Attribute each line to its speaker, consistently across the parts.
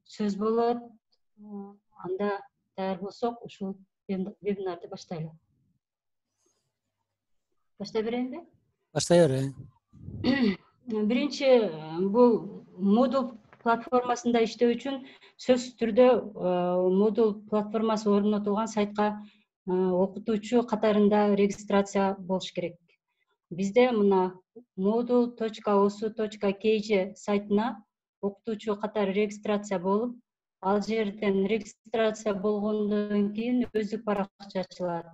Speaker 1: сөз болот. Анда даяр болсок, ушул вебинарды баштайлы. Баштай берейинби?
Speaker 2: Баштай бер.
Speaker 1: Биринчи, бул Moodle платформасында иштөө үчүн сөзсүз түрдө Moodle платформасы орнотулган сайтка окутуучу катарында регистрация болуш керек. Бизде мына moodle.osu.kg сайтына окутуучу катары регистрация болуп, ал жерден регистрация болгондон кийин өздүк баракча ачылат.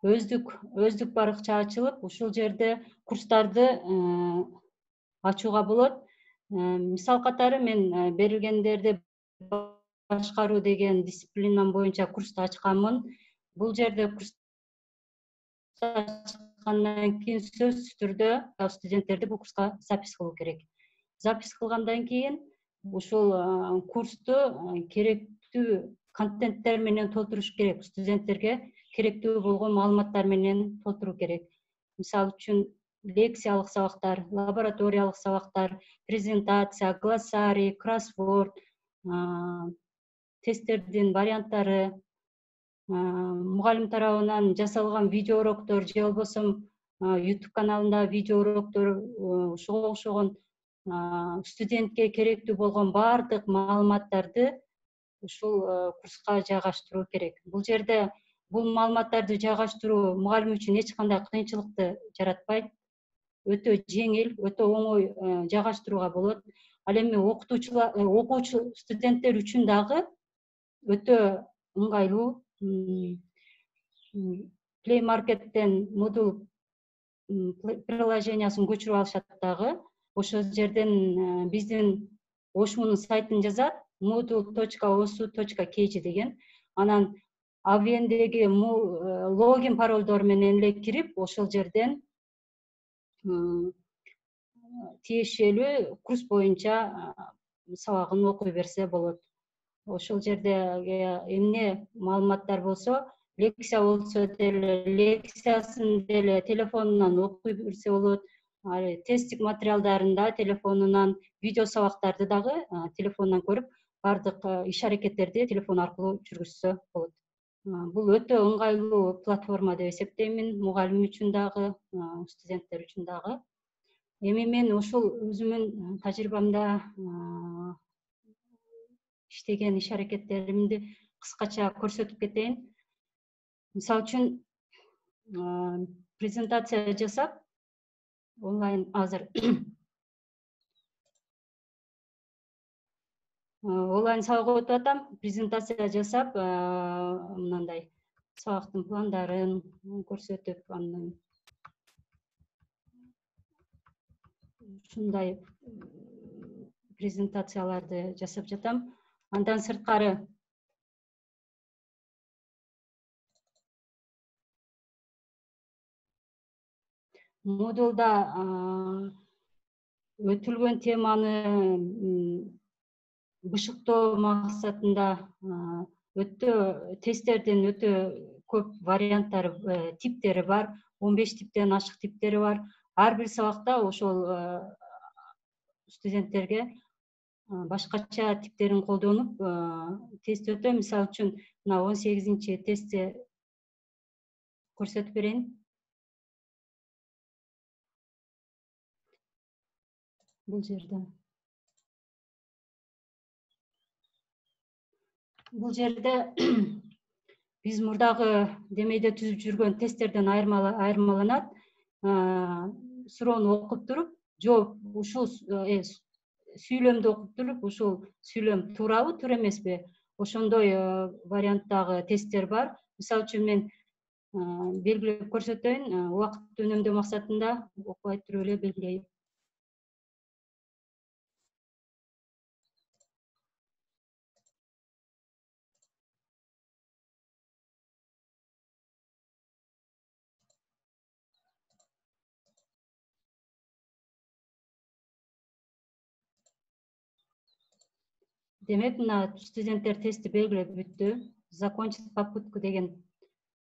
Speaker 1: Өздүк баракча ачылып, ушул жерде курстарды ачууга болот. Мисал катары мен берилгендерди башкаруу деген дисциплинам боюнча курсту ачканмын. Бул жерде курсту ачкандан кийин сөзсүз түрдө студенттерди бул курска запись кылуу керек. Запись кылгандан кийин ушул курсту керектүү контенттер менен толтуруш керек. Студенттерге керектүү болгон маалыматтар менен толтуруу керек. Мисалы үчүн лекциялык сабактар, лабораториялык сабактар, презентация, глоссарий, кроссворд, тесттердин варианттары, мугалим тарабынан жасалган видео уроктор же болбосо YouTube каналында видео уроктор, ошого окшогон студентке керектүү болгон баардык маалыматтарды ушул курска жайгаштыруу керек. Бул жерде бул маалыматтарды жайгаштыруу мугалим үчүн эч кандай кыйынчылыкты жаратпайт. Өтө жеңил, өтө оңой жайгаштырууга болот. Ал эми окуучу студенттер үчүн дагы өтө ыңгайлуу. Play Market'ten Moodle приложениясын көчүрүп алышат дагы. Ошол жерден биздин ошмунун сайтын жазат, moodle.osu.kg деген. Анан AVN'деги логин паролдор менен эле кирип, ошол жерден тиешелүү курс боюнча сабагын окуй берсе болот. Ошол жерде эмне маалыматтар болсо, лекция болсо деле лекциясын деле телефонунан окуй берсе болот. Тесттик материалдарын телефонунан, видео сабактарды дагы телефонунан көрүп, бардык иш аракеттерди телефон аркылуу жүргүзсө болот. Бул өтө ыңгайлуу платформа деп эсептеймин, мугалим үчүн дагы, студенттер үчүн дагы. Эми мен ушул өзүмдүн тажрыйбамда иштеген иш аракеттеримди кыскача көрсөтүп кетейин. Мисалы үчүн презентация жасап, онлайн азыр онлайн сабак өтүп атам. Презентация жасап, мындай сабактын пландарын көрсөтүп, андан ушундай презентацияларды жасап жатам. Андан сырткары Moodle'да өтүлгөн теманы бышыктоо максатында өтө тесттердин өтө көп варианттары, типтери бар. 15 типтен ашык типтери бар. Ар бир сабакта ошол студенттерге башкача типтерин колдонуп тест өтө. Мисалы үчүн мына 18-чи тестти көрсөтүп берейин. Бул жерде биз мурдагы демейде түзүп жүргөн тесттерден айырмаланат. Суроону окуп туруп, жооп ушул сүйлөмдү окуп туруп, ушул сүйлөм туурабы, туура эмеспи? Ошондой варианттагы тесттер бар. Мисалы үчүн мен белгилеп көрсөтөйүн, убакытты үнөмдөө максатында окубай туруп эле белгилейм. Демек, мына студенттер тестти белгилеп бүттү. Закончить попытку деген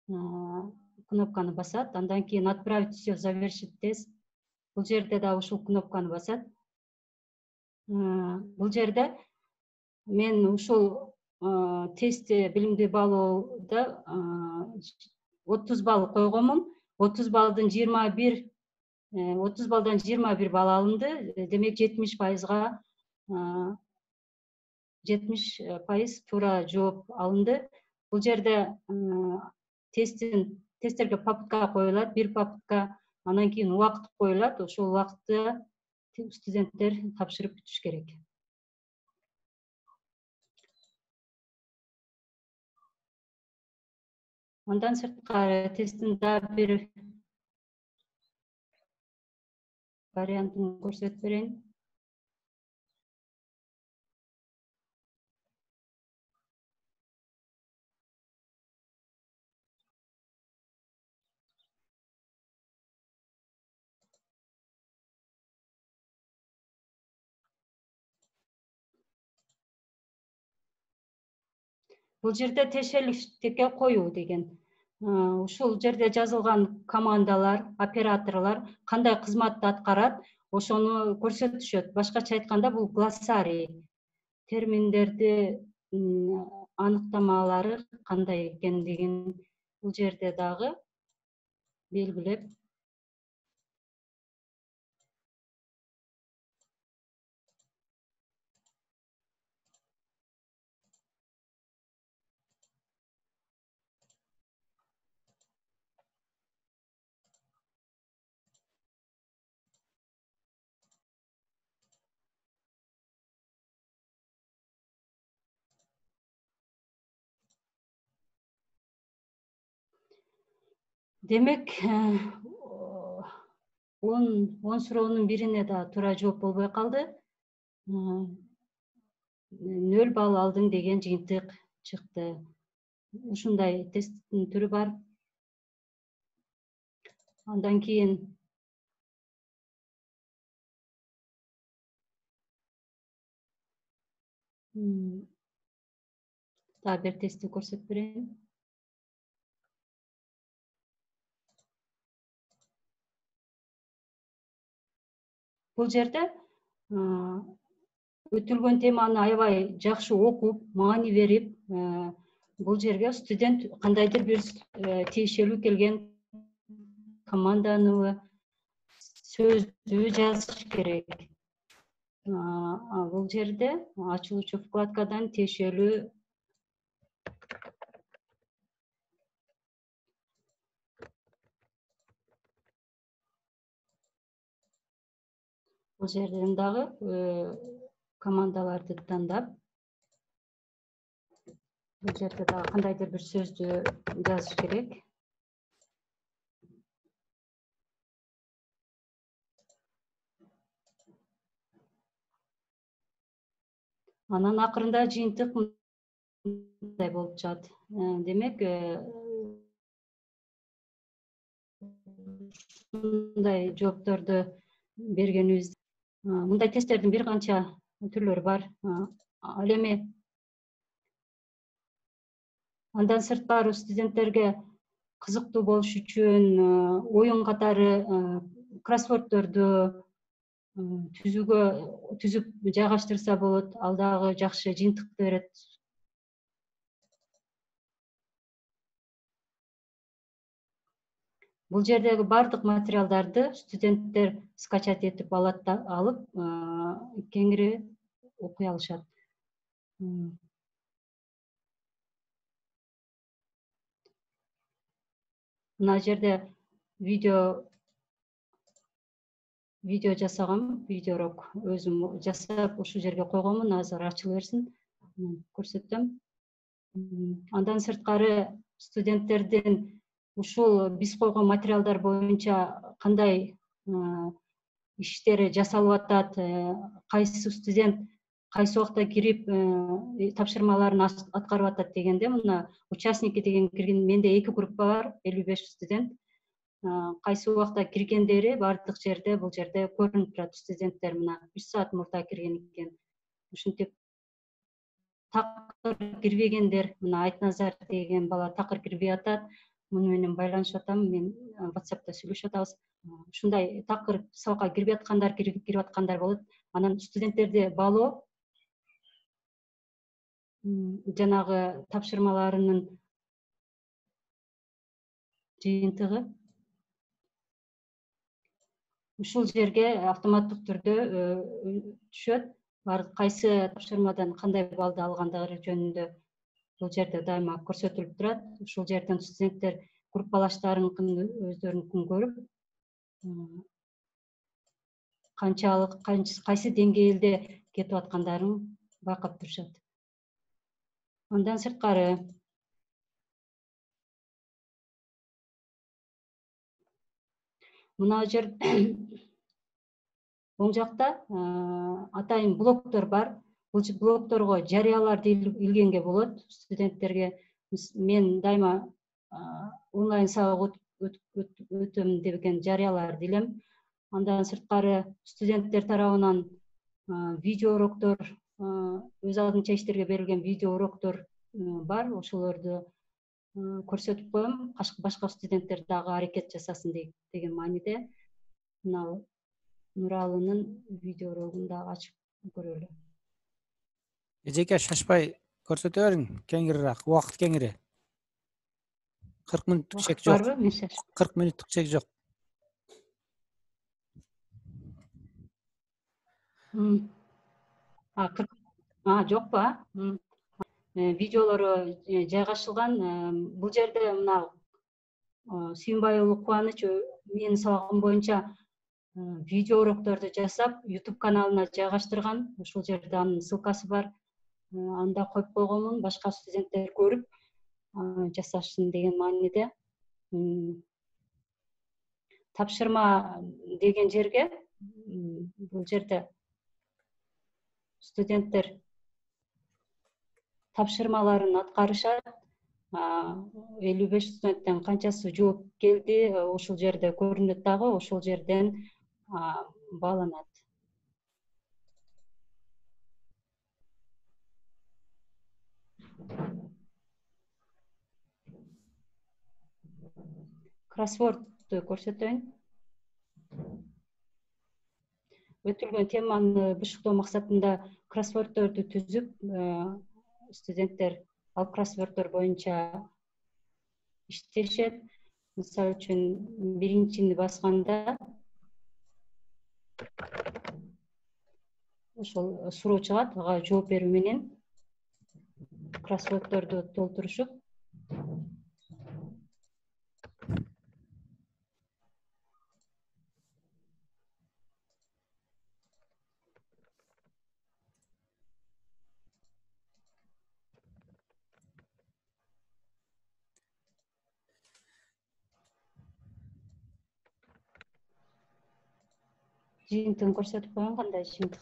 Speaker 1: кнопканы басат. Андан кийин отправить все, завершить тест. Бул жерде да ушул кнопканы басат. Бул жерде мен ушул тестти билимди баалоодо 30 балл койгонмун. 30 баллдан 21 балл алынды. Демек 70%га 70% туура жооп алынды. Бул жерде тесттерге попытка коюлат, бир попытка, анан кийин убакыт коюлат. Ошол убакытта студенттер тапшырып бүтүш керек. Андан сырткары тесттин дагы бир вариантын көрсөтүп берейин. Бул жерде тиешеликтикке коюу деген. Ушул жерде жазылган командалар, операторлор кандай кызматты аткарат, ошону көрсөтүшөт. Башкача айтканда, бул глоссарий. Терминдерди аныктамалары кандай экендигин бул жерде дагы белгилеп. Демек, 10 суроонун бирине да туура жооп болбой калды. 0 балл алдың деген жыйынтык чыкты. Ушундай тесттин түрү бар. Андан кийин дагы бир тестти көрсөтүп берейин. Бул жерде өтүлгөн теманы аябай жакшы окуп, маани берип, бул жерге студент кандайдыр бир тиешелүү келген команданыбы, сөздү жазыш керек. Бул жерде ачылуучу вкладкадан тиешелүү бул жерден дагы командаларды тандап, бул жерде дагы кандайдыр бир сөздү жазыш керек. Анан акырында жыйынтык мындай болуп чыгат. Демек, мындай жоопторду бергенибиз. Мындай тесттердин бир канча түрлөрү бар. Ал эми андан сырткары студенттерге кызыктуу болуш үчүн оюн катары кроссворддорду түзүп жайгаштырса болот. Ал дагы жакшы жыйынтыкты берет. Бул жердеги бардык материалдарды студенттер скачать этип алып кеңири окуй алышат. Мына жерде видео жасагам, видеорок өзүм жасап ушул жерге койгонмун. Азыр ачыла берсин, көрсөтөм. Андан сырткары студенттердин ушул биз койгон материалдар боюнча кандай иштери жасалып атат, кайсы студент кайсы убакта кирип тапшырмаларын аткарып атат дегенде, мына участники деген кирген, менде 2 группа бар, 55 студент. Кайсы убакта киргендери бардык жерде, бул жерде көрүнүп турат. Студенттер мына 3 саат мурда кирген экен. Ушинтип такыр кирбегендер, мына Айтназар деген бала такыр кирбей атат. муну менен байланышып атам. Мен WhatsApp'та сүйлөшүп атабыз. Ушундай такыр сабакка кирип аткандар болот. Анан студенттерди баалоо жанагы тапшырмаларынын жыйынтыгы ушул жерге автоматтык түрдө түшөт. Кайсы тапшырмадан кандай баллды алгандыгы жөнүндө бул жерде дайыма көрсөтүлүп турат. Ушул жерден студенттер группалаштарыныкын өздөрүнүкүн көрүп, канчалык кайсы деңгээлде кетип аткандарын байкап турушат. Андан сырткары мына жер оң жакта атайын блоктор бар. Бул блокторго жарыяларды илгенге болот. Студенттерге мен дайыма онлайн сабак өтөм деген жарыяларды илем. Андан сырткары студенттер тарабынан видео уроктор, өз алдынча иштерге берилген видео уроктор бар. Ошолорду көрсөтүп коем. Башка студенттер дагы аракет жасасын деген мааниде. Мына Нуралынын видео урогун дагы ачып көрөлү.
Speaker 2: Эжеке шашпай көрсөтө бериң, кеңирираак, убакыт кеңири. 40 мүнөттүк чек жок.
Speaker 1: Барбы? Мен шаш.
Speaker 2: 40 мүнөттүк чек жок.
Speaker 1: Жокпу? Видеолору жайгашылган. Бул жерде мына Сүйүнбай уулу Кубаныч менин сабагым боюнча видео урокторду жасап, YouTube каналына жайгаштырган. Ушул жерде анын ссылкасы бар. Анда коюп койгонмун, башка студенттер көрүп жасашсын деген мааниде. Тапшырма деген жерге бул жерде студенттер тапшырмаларын аткарышат. 55 студенттен канчасы жооп келди, ушул жерде көрүнөт дагы, ошол жерден бааланат. Кроссвордду көрсөтөйүн. Өтүлгөн теманы бышыктоо максатында кроссворддорду түзүп, студенттер ал кроссворддор боюнча иштешет. Мисалы үчүн биринчини басканда ошол суроо чыгат, ага жооп берүү менен кроссворддорду толтурушуп, жыйынтыгын көрсөтүп коеюн, кандай жыйынтык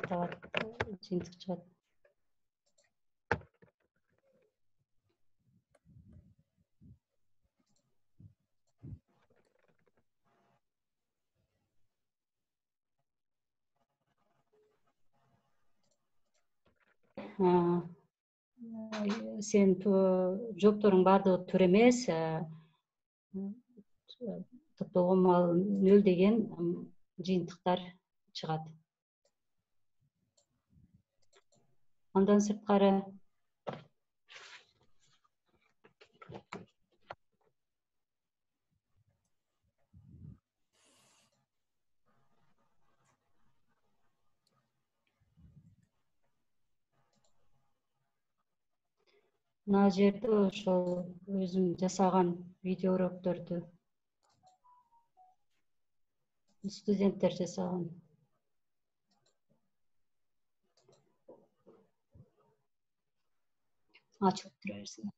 Speaker 1: чыгат. Сен жоопторуң баардыгы туура эмес. Топтолгон маал 0 деген жыйынтыктар чыгат. Андан сырткары мына жерде ошол өзүм жасаган видео урокторду студенттер жасаган. Ачылып тура берсин.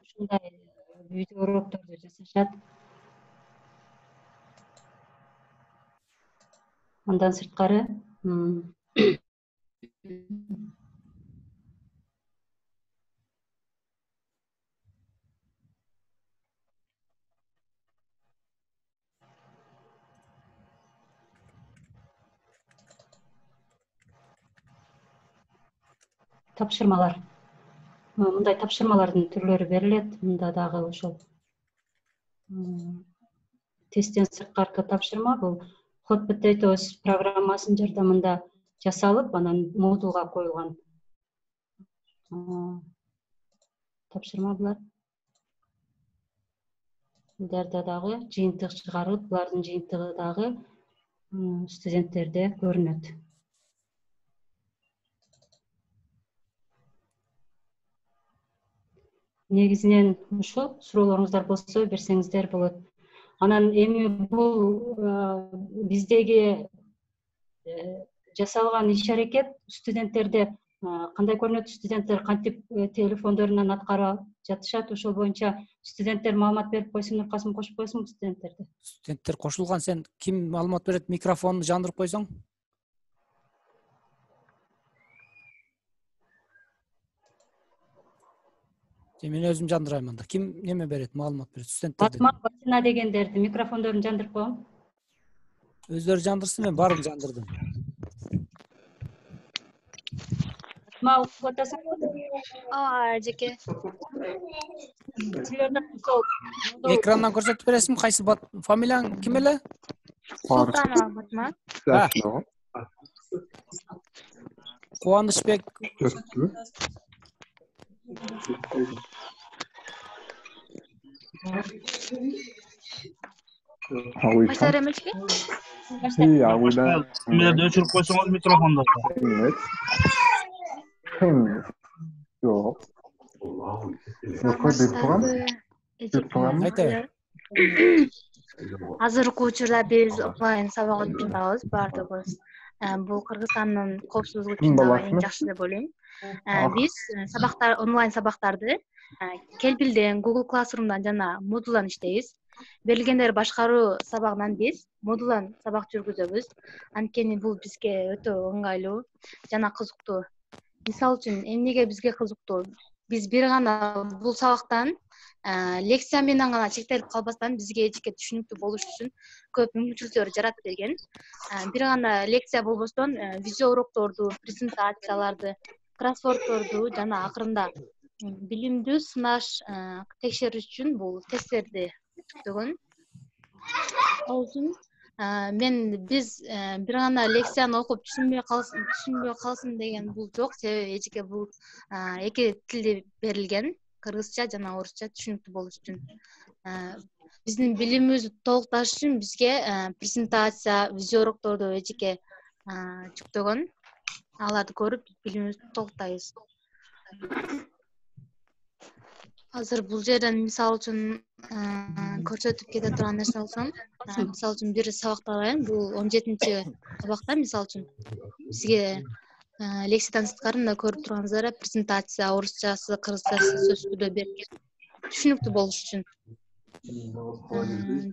Speaker 1: Ушундай видео урокторду жасашат. Андан сырткары тапшырмалар. Мындай тапшырмалардын түрлөрү берилет. Мында дагы ошол тесттен сырткаркы тапшырма бул Hot Potatoes программасынын жардамында жасалып, анан модулга коюлган тапшырма булар. Буларда дагы жыйынтык чыгарылып, булардын жыйынтыгы дагы студенттерде көрүнөт. Негизинен ушул суроолоруңуздар болсо берсеңиздер болот. Анан эми бул биздеги жасалган иш-аракет студенттерде кандай көрүнөт, студенттер кантип телефондорунан аткара жатышат, ошол боюнча студенттер маалымат берип койсун, Нуркасым кошуп койсуңбу студенттерди?
Speaker 2: Студенттер кошулган, сен ким маалымат берет, микрофонду жандырып койсоң. Мен өзүм жандырайм анда. Ким неме берет, маалымат берет студенттерден?
Speaker 1: Батма дегендерди микрофондорун жандырып койгом.
Speaker 2: Өздөрү жандырсын, мен баарын жандырдым.
Speaker 1: Батма окуп атасыңбы?
Speaker 3: Эжеке.
Speaker 2: Экрандан көрсөтүп бересиңби, кайсы фамилияң ким эле?
Speaker 3: Султанова Батма.
Speaker 2: Кубанычбек.
Speaker 3: Başlar emekli?
Speaker 4: Iya, udah.
Speaker 5: Şimdi öçürüp koysanız mikrofonda.
Speaker 4: Yok. Yok, Diltuğan. Diltuğan.
Speaker 2: Ayta.
Speaker 3: Азыркы учурда биз офлайн сабак өтүп жатабыз баардыгыбыз. Бул Кыргызстандын коопсуздугу үчүн дагы эң жакшы деп ойлойм. Биз онлайн сабактарды Келбилден, Google Classroom'дан жана Moodle'дан иштейбиз. Берилгендер башкаруу сабагынан биз Moodle'дан сабак жүргүзөбүз. Анткени бул бизге өтө ыңгайлуу жана кызыктуу. Мисалы үчүн, эмнеге бизге кызыктуу? Биз бир гана бул сабактан лекция менен гана чектелип калбастан бизге эчке түшүнүктүү болуш үчүн көп мүмкүнчүлүктөр жаратып берген. Бир гана лекция болбостон видео урокторду, презентацияларды, кроссвордторду жана акырында билимдүү сынаш текшериш үчүн бул тесттерди жүктөгөн. Ал үчүн биз бир гана лекцияны окуп түшүнбөй калсын деген бул жок. Себеби эчке бул эки тилде берилген, кыргызча жана орусча түшүнүктүү болуш үчүн. Биздин билимибизди толукташ үчүн бизге презентация, видео урокторду эчке жүктөгөн. Аларды көрүп билимибизди толуктайбыз. Азыр бул жерден мисалы үчүн көрсөтүп кете турган нерсе болсом, мисалы үчүн бир сабакты алайын. Бул 17-чи сабакта мисалы үчүн бизге лекциядан сырткары мына көрүп турганыңыздар презентация орусчасы, кыргызчасы сөз түрдө берилген. Түшүнүктүү болуш үчүн.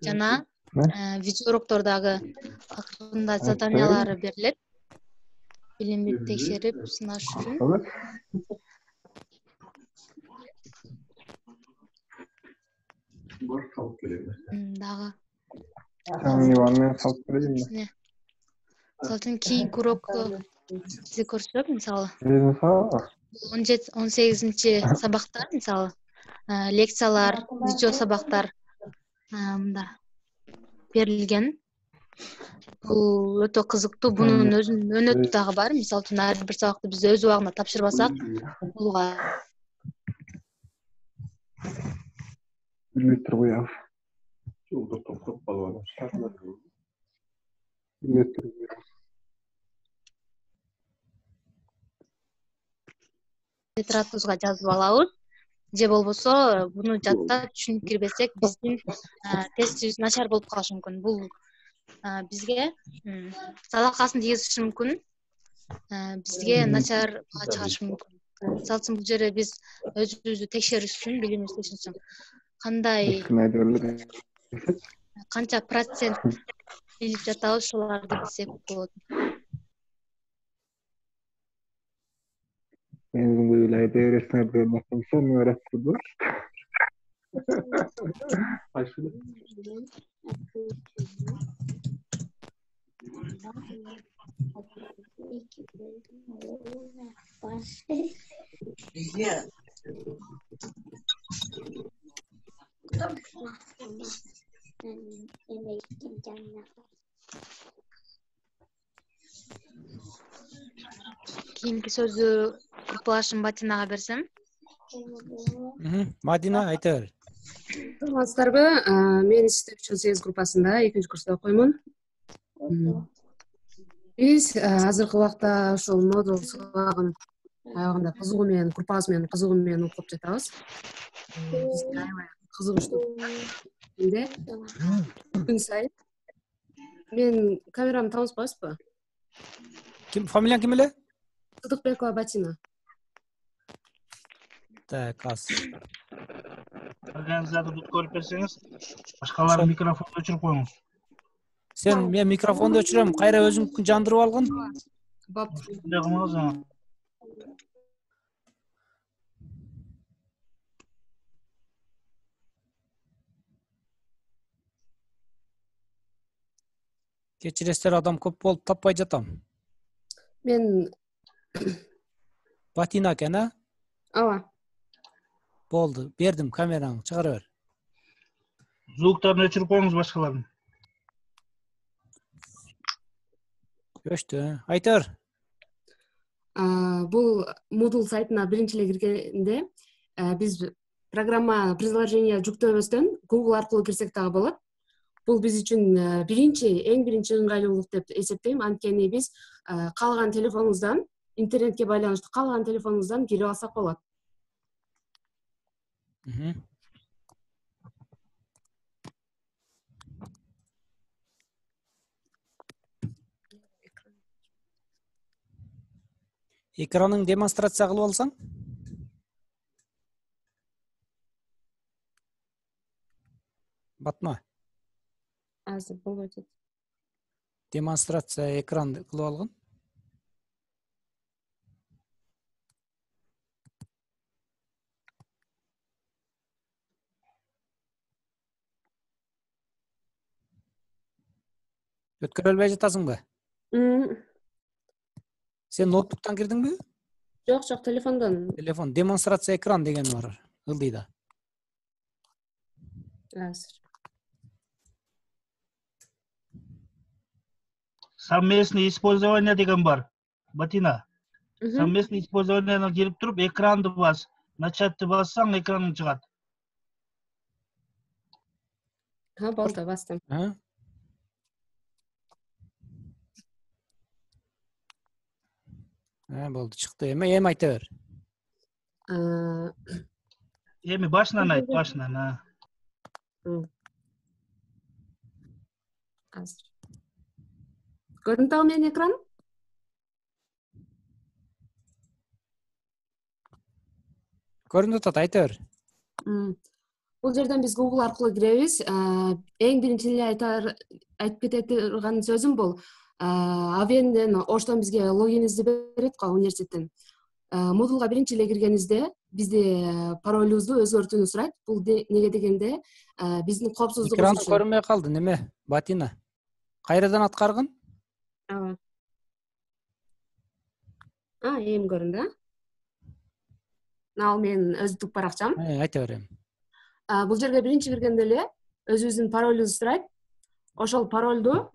Speaker 3: Жана видео уроктордагы акырында заданиялары берилет. Билимди текшерип сынаш үчүн. Дагы.
Speaker 4: Иванмен салып берейинби?
Speaker 3: Мисалы үчүн кийинки урокто сизге көрсөтөм, мисалы. 18-чи сабакта, мисалы, лекциялар, видео сабактар мында берилген. Бул өтө кызыктуу. Бунун өзүнүн өнөтү дагы бар. Мисалы үчүн ар бир сабакты биз өз убагында тапшырбасак, булга
Speaker 4: Литр уяв. Жолдо токтоп калып атат. Литр уяв.
Speaker 3: тетрадыбызга жазып алабыз. Же болбосо буну жаттап түшүнүп кирбесек, биздин тестибиз начар болуп калышы мүмкүн. Бул бизге залакасын тийгизиши мүмкүн. Бизге начар баа чыгарышы мүмкүн. Мисалы үчүн бул жерде биз өзүбүздү текшериш үчүн, билимибизди текшериш үчүн кандай канча процент билип жатабыз, ошолорду билсек болот.
Speaker 4: Benim böyle devresine dönmekten sonra öğrettiler.
Speaker 3: Кийинки сөздү группалашым Батинага берсем.
Speaker 2: Мадина айта бер.
Speaker 6: Саламатсыздарбы? Мен иштеп жүргөн 8 группасында 2 курста окуймун. Биз азыркы убакта ушул модул сабагын аябагында кызыгуу менен, группабыз менен кызыгуу менен окуп жатабыз. Бизге аябай кызыгыштуу. Эмне? Күн сайын. Мен камерамды таанышпайсызбы?
Speaker 2: Ким, фамилияң ким эле?
Speaker 6: Сыдыкбекова Батина.
Speaker 2: Так, азыр.
Speaker 5: Организаторду көрүп берсеңиз, башкалар микрофонду өчүрүп коюңуз.
Speaker 2: Sen men mikrofonду өчүрөм, кайра өзүң жандырып алгын.
Speaker 6: Боптур.
Speaker 5: Ушундай кылмаңыз ага.
Speaker 2: Кечиресиздер, адам көп болуп таппай жатам.
Speaker 6: Мен
Speaker 2: Батина экен, а?
Speaker 6: ооба.
Speaker 2: Болду, бердим камераңды, чыгара бер.
Speaker 5: Звуктарын өчүрүп коюңуз башкалардын.
Speaker 2: Өчтү, айта бер.
Speaker 6: Бул Moodle сайтына биринчи эле киргенде биз программа приложение жүктөбөстөн Google аркылуу кирсек дагы болот. Бул биз үчүн эң биринчи ыңгайлуулук деп эсептейм. Анткени биз каалаган телефонубуздан, интернетке байланыштуу каалаган телефонубуздан кирип алсак болот.
Speaker 2: Экраның демонстрация кылып алсаң? Батма.
Speaker 6: Азыр болбой атат.
Speaker 2: Демонстрация экранды кылып алгын. Өткөрө албай жатасыңбы? Сен ноутбуктан кирдиңби?
Speaker 6: Жок, телефондон.
Speaker 2: Телефон, демонстрация экран деген бар, ылдыйда.
Speaker 6: Азыр.
Speaker 5: Совместное использование деген бар. Батина. Совместное использование кирип туруп, экранды бас. Начатты бассаң, экраның чыгат.
Speaker 6: Болду, бастым.
Speaker 2: Болду, чыкты. Эми айта бер.
Speaker 5: Эми башынан айт, башынан.
Speaker 6: Азыр. Көрүнүп атабы менин экран?
Speaker 2: Көрүнүп атат, айта бер.
Speaker 6: Бул жерден биз Google аркылуу киребиз. Эң биринчи эле айтып кете турган сөзүм бул. Авенден Оштон бизге логинибизди берет го университеттен. Moodleга биринчи эле киргенибизде бизде паролубузду өзгөртүүнү сурайт. Бул неге дегенде биздин коопсуздугубуз
Speaker 2: үчүн. Экран көрүнбөй калды, неме? Батина. Кайрадан аткаргын?
Speaker 6: Ооба. Эми көрүндү, Ал менин өздүк баракчам.
Speaker 2: Айта берем.
Speaker 6: Бул жерге биринчи киргенде эле өзүбүздүн паролубузду сурайт. Ошол паролду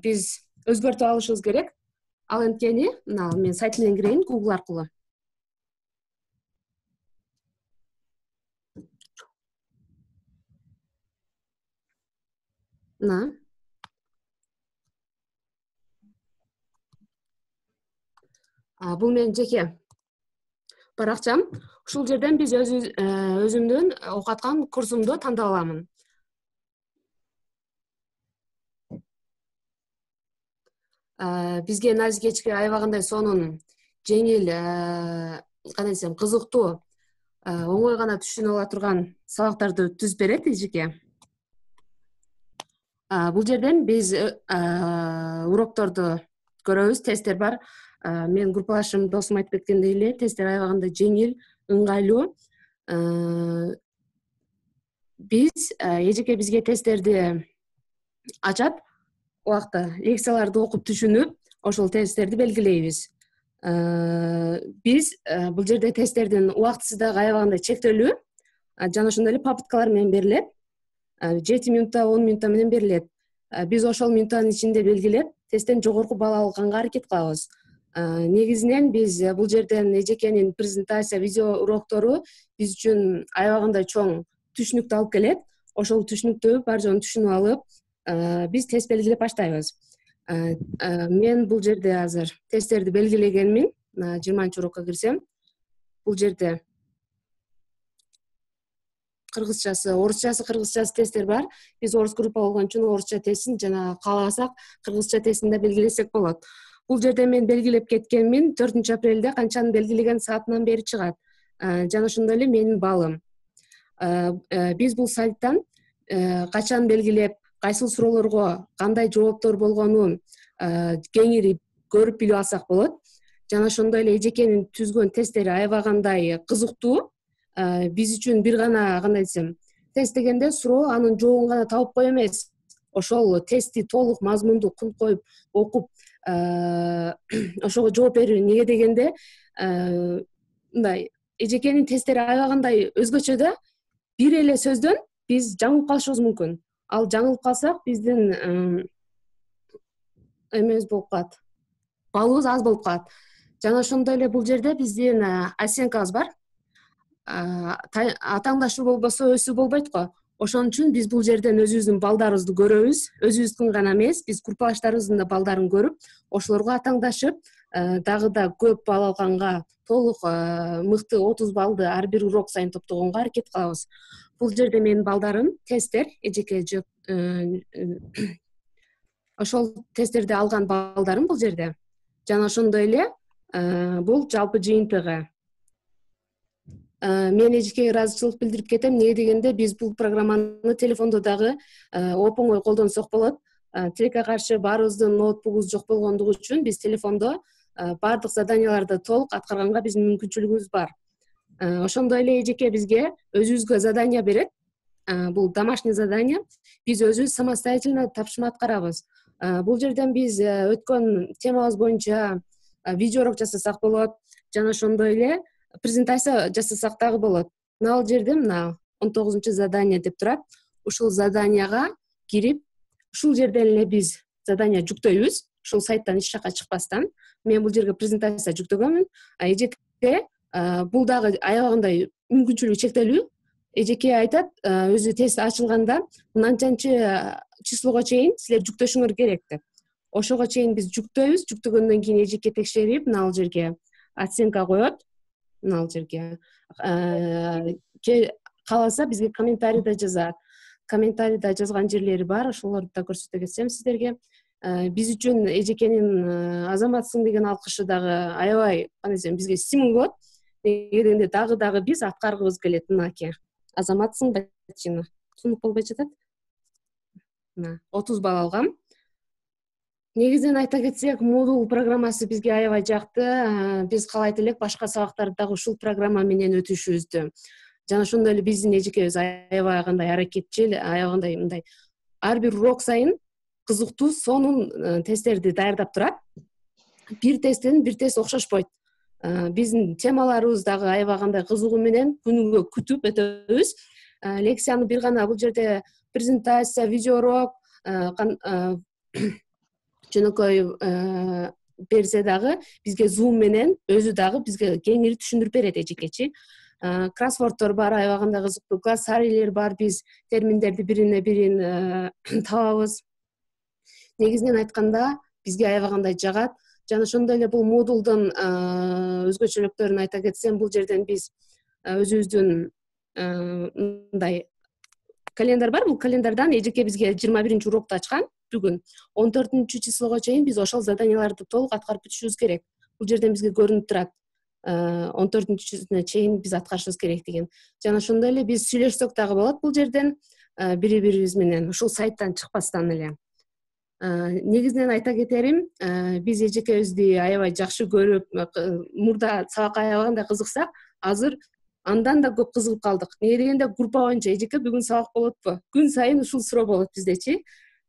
Speaker 6: биз өзгөртүп алышыбыз керек. Ал анткени, мен сайт менен кирейин Google аркылуу. Бул менин жеке баракчам. Ушул жерден биз өзүмдүн окуп аткан курсумду тандап аламын. Бизге назикечки аябагандай сонун, жеңил, кандай десем, кызыктуу, оңой гана түшүнүп ала турган сабактарды түзүп берет эжеке. Бул жерден биз урокторду көрөбүз, тесттер бар. Мен группалашым досум айтып кеткендей эле, тесттер аябагында жеңил, ыңгайлуу. Биз эжеке бизге тесттерди ачат, убакта лекцияларды окуп түшүнүп, ошол тесттерди белгилейбиз. Биз бул жерде тесттердин убактысы дагы аябагандай чектелүү. Жана ошондой эле попыткалар менен берилет. 7 минутта, 10 минутта менен берилет. Биз ошол минуттанын ичинде белгилеп, тесттен жогорку бал алганга аракет кылабыз. Негизинен биз бул жерден эжекенин презентация, видео уроктору биз үчүн аябагандай чоң түшүнүктү алып келет. Ошол түшүнүктү бар жогун түшүнүп алып, биз тест белгилеп баштайбыз. Мен бул жерде азыр тесттерди белгилегенмин. 20-урокко кирсем, бул жерде кыргызчасы, орусчасы, кыргызчасы тесттер бар. Биз орус группа болгон үчүн орусча тестин жана кааласак кыргызча тестин да белгилесек болот. Бул жерде мен белгилеп кеткенмин. 4 апрелде канчаны белгилеген саатынан бери чыгат. Жана ошондой эле менин балым. Биз бул сайттан качан белгилеп, кайсыл суроолорго кандай жооптор болгонун кеңири көрүп билип алсак болот. Жана ошондой эле эжекенин түзгөн тесттери аябагандай кызыктуу. Биз үчүн бир гана кандай десем, тест дегенде суроо анын жообун гана табып кой эмес. Ошол тестти толук мазмунду кунт коюп окуп, ошого жооп берүү. Неге дегенде, мындай эжекенин тесттери аябагандай өзгөчө да. Бир эле сөздөн биз жаңылып калышыбыз мүмкүн. Ал жаңылып калсак, биздин эмебиз болуп калат. Балыбыз аз болуп калат. Жана ошондой эле бул жерде биздин оценкабыз бар. Атаңдашуу болбосо өсүү болбойт го. Ошон үчүн биз бул жерден өзүбүздүн балдарыбызды көрөбүз. Өзүбүздүн гана эмес, биз группалаштарыбыздын да балдарын көрүп, ошолорго атаңдашып, дагы да көп балл алганга, толук мыкты 30 баллды ар бир урок сайын топтогонго аракет кылабыз. Бул жерде менин балдарым тесттер, эжеке ошол тесттерди алган балдарым бул жерде. Жана ошондой эле бул жалпы жыйынтыгы. Мен эжекеге ыраазычылык билдирип кетем. Неге дегенде биз бул программаны телефондо дагы оп-оңой колдонсок болот. Тилекке каршы баарыбыздын ноутбугубуз жок болгондугу үчүн биз телефондо баардык заданияларды толук аткарганга биздин мүмкүнчүлүгүбүз бар. Ошондой эле эжеке бизге өзүбүзгө задание берет. Бул домашний задание. Биз өзүбүз самостоятельно тапшырма аткарабыз. Бул жерден биз өткөн темабыз боюнча видеоурок жасасак болот. Жана ошондой эле презентация жасасак дагы болот. Мына бул жерде мына 19 задание деп турат. Ушул заданияга кирип, ушул жерден эле биз задание жүктөйбүз. Ушул сайттан эч жакка чыкпастан. Мен бул жерге презентация жүктөгөнмүн. Эжеке бул дагы аябагандай мүмкүнчүлүгү чектелүү. Эжеке айтат, өзү тест ачылганда мынанчанчы числого чейин силер жүктөшүңөр керек деп. Ошого чейин биз жүктөйбүз. Жүктөгөндөн кийин эжеке текшерип, мына бул жерге оценка коет. Мына бул жерге кааласа бизге комментарий да жазат. Комментарийда жазган жерлери бар, ошолорду да көрсөтө кетсем сиздерге. Биз үчүн эжекенин азаматсың деген алкышы дагы аябай, кандай десем, бизге стимул болот. Неге дегенде дагы биз аткаргыбыз келет. Мынаке азаматсың бачина тунуп болбой жатат. Мына 30 балл алгам. Негизинен айта кетсек, модул программасы бизге аябай жакты. Биз каалайт элек башка сабактарды дагы ушул программа менен өтүшүбүздү. Жана ошондой эле биздин эжекебиз аябай кандай аракетчил, аябай мындай ар бир урок сайын кызыктуу, сонун тесттерди даярдап турат. Бир тесттен бир тест окшошпойт. Биздин темаларыбыз дагы аябай кандай кызыгуу менен күнүгө күтүп өтөбүз. Лекцияны бир гана бул жерде презентация, видеоурок жөнөкөй берсе дагы бизге Zoom менен өзү дагы бизге кеңири түшүндүрүп берет эжекечи. Кроссвордтор бар, аябай кандай кызыктуу глоссарийлер бар, биз терминдерди бирине бирин табабыз. Негизинен айтканда бизге аябай кандай жагат. Жана ошондой эле бул модулдун өзгөчөлүктөрүн айта кетсем, бул жерден биз өзүбүздүн мындай календар бар. Бул календардан эжеке бизге 21-урокто ачкан. Бүгүн 14 числого чейин биз ошол заданияларды толук аткарып бүтүшүбүз керек. Бул жерден бизге көрүнүп турат. 14-чисине чейин биз аткарышыбыз керек деген. Жана ошондой эле биз сүйлөшсөк дагы болот бул жерден бири-бирибиз менен ушул сайттан чыкпастан эле. Негизинен айта кетерим, биз эжекебизди аябай жакшы көрүп, мурда сабакка аябай кызыксак, азыр андан да көп кызыгып калдык. Неге дегенде группа боюнча эжеке бүгүн сабак болотпу? Күн сайын ушул суроо болот биздечи.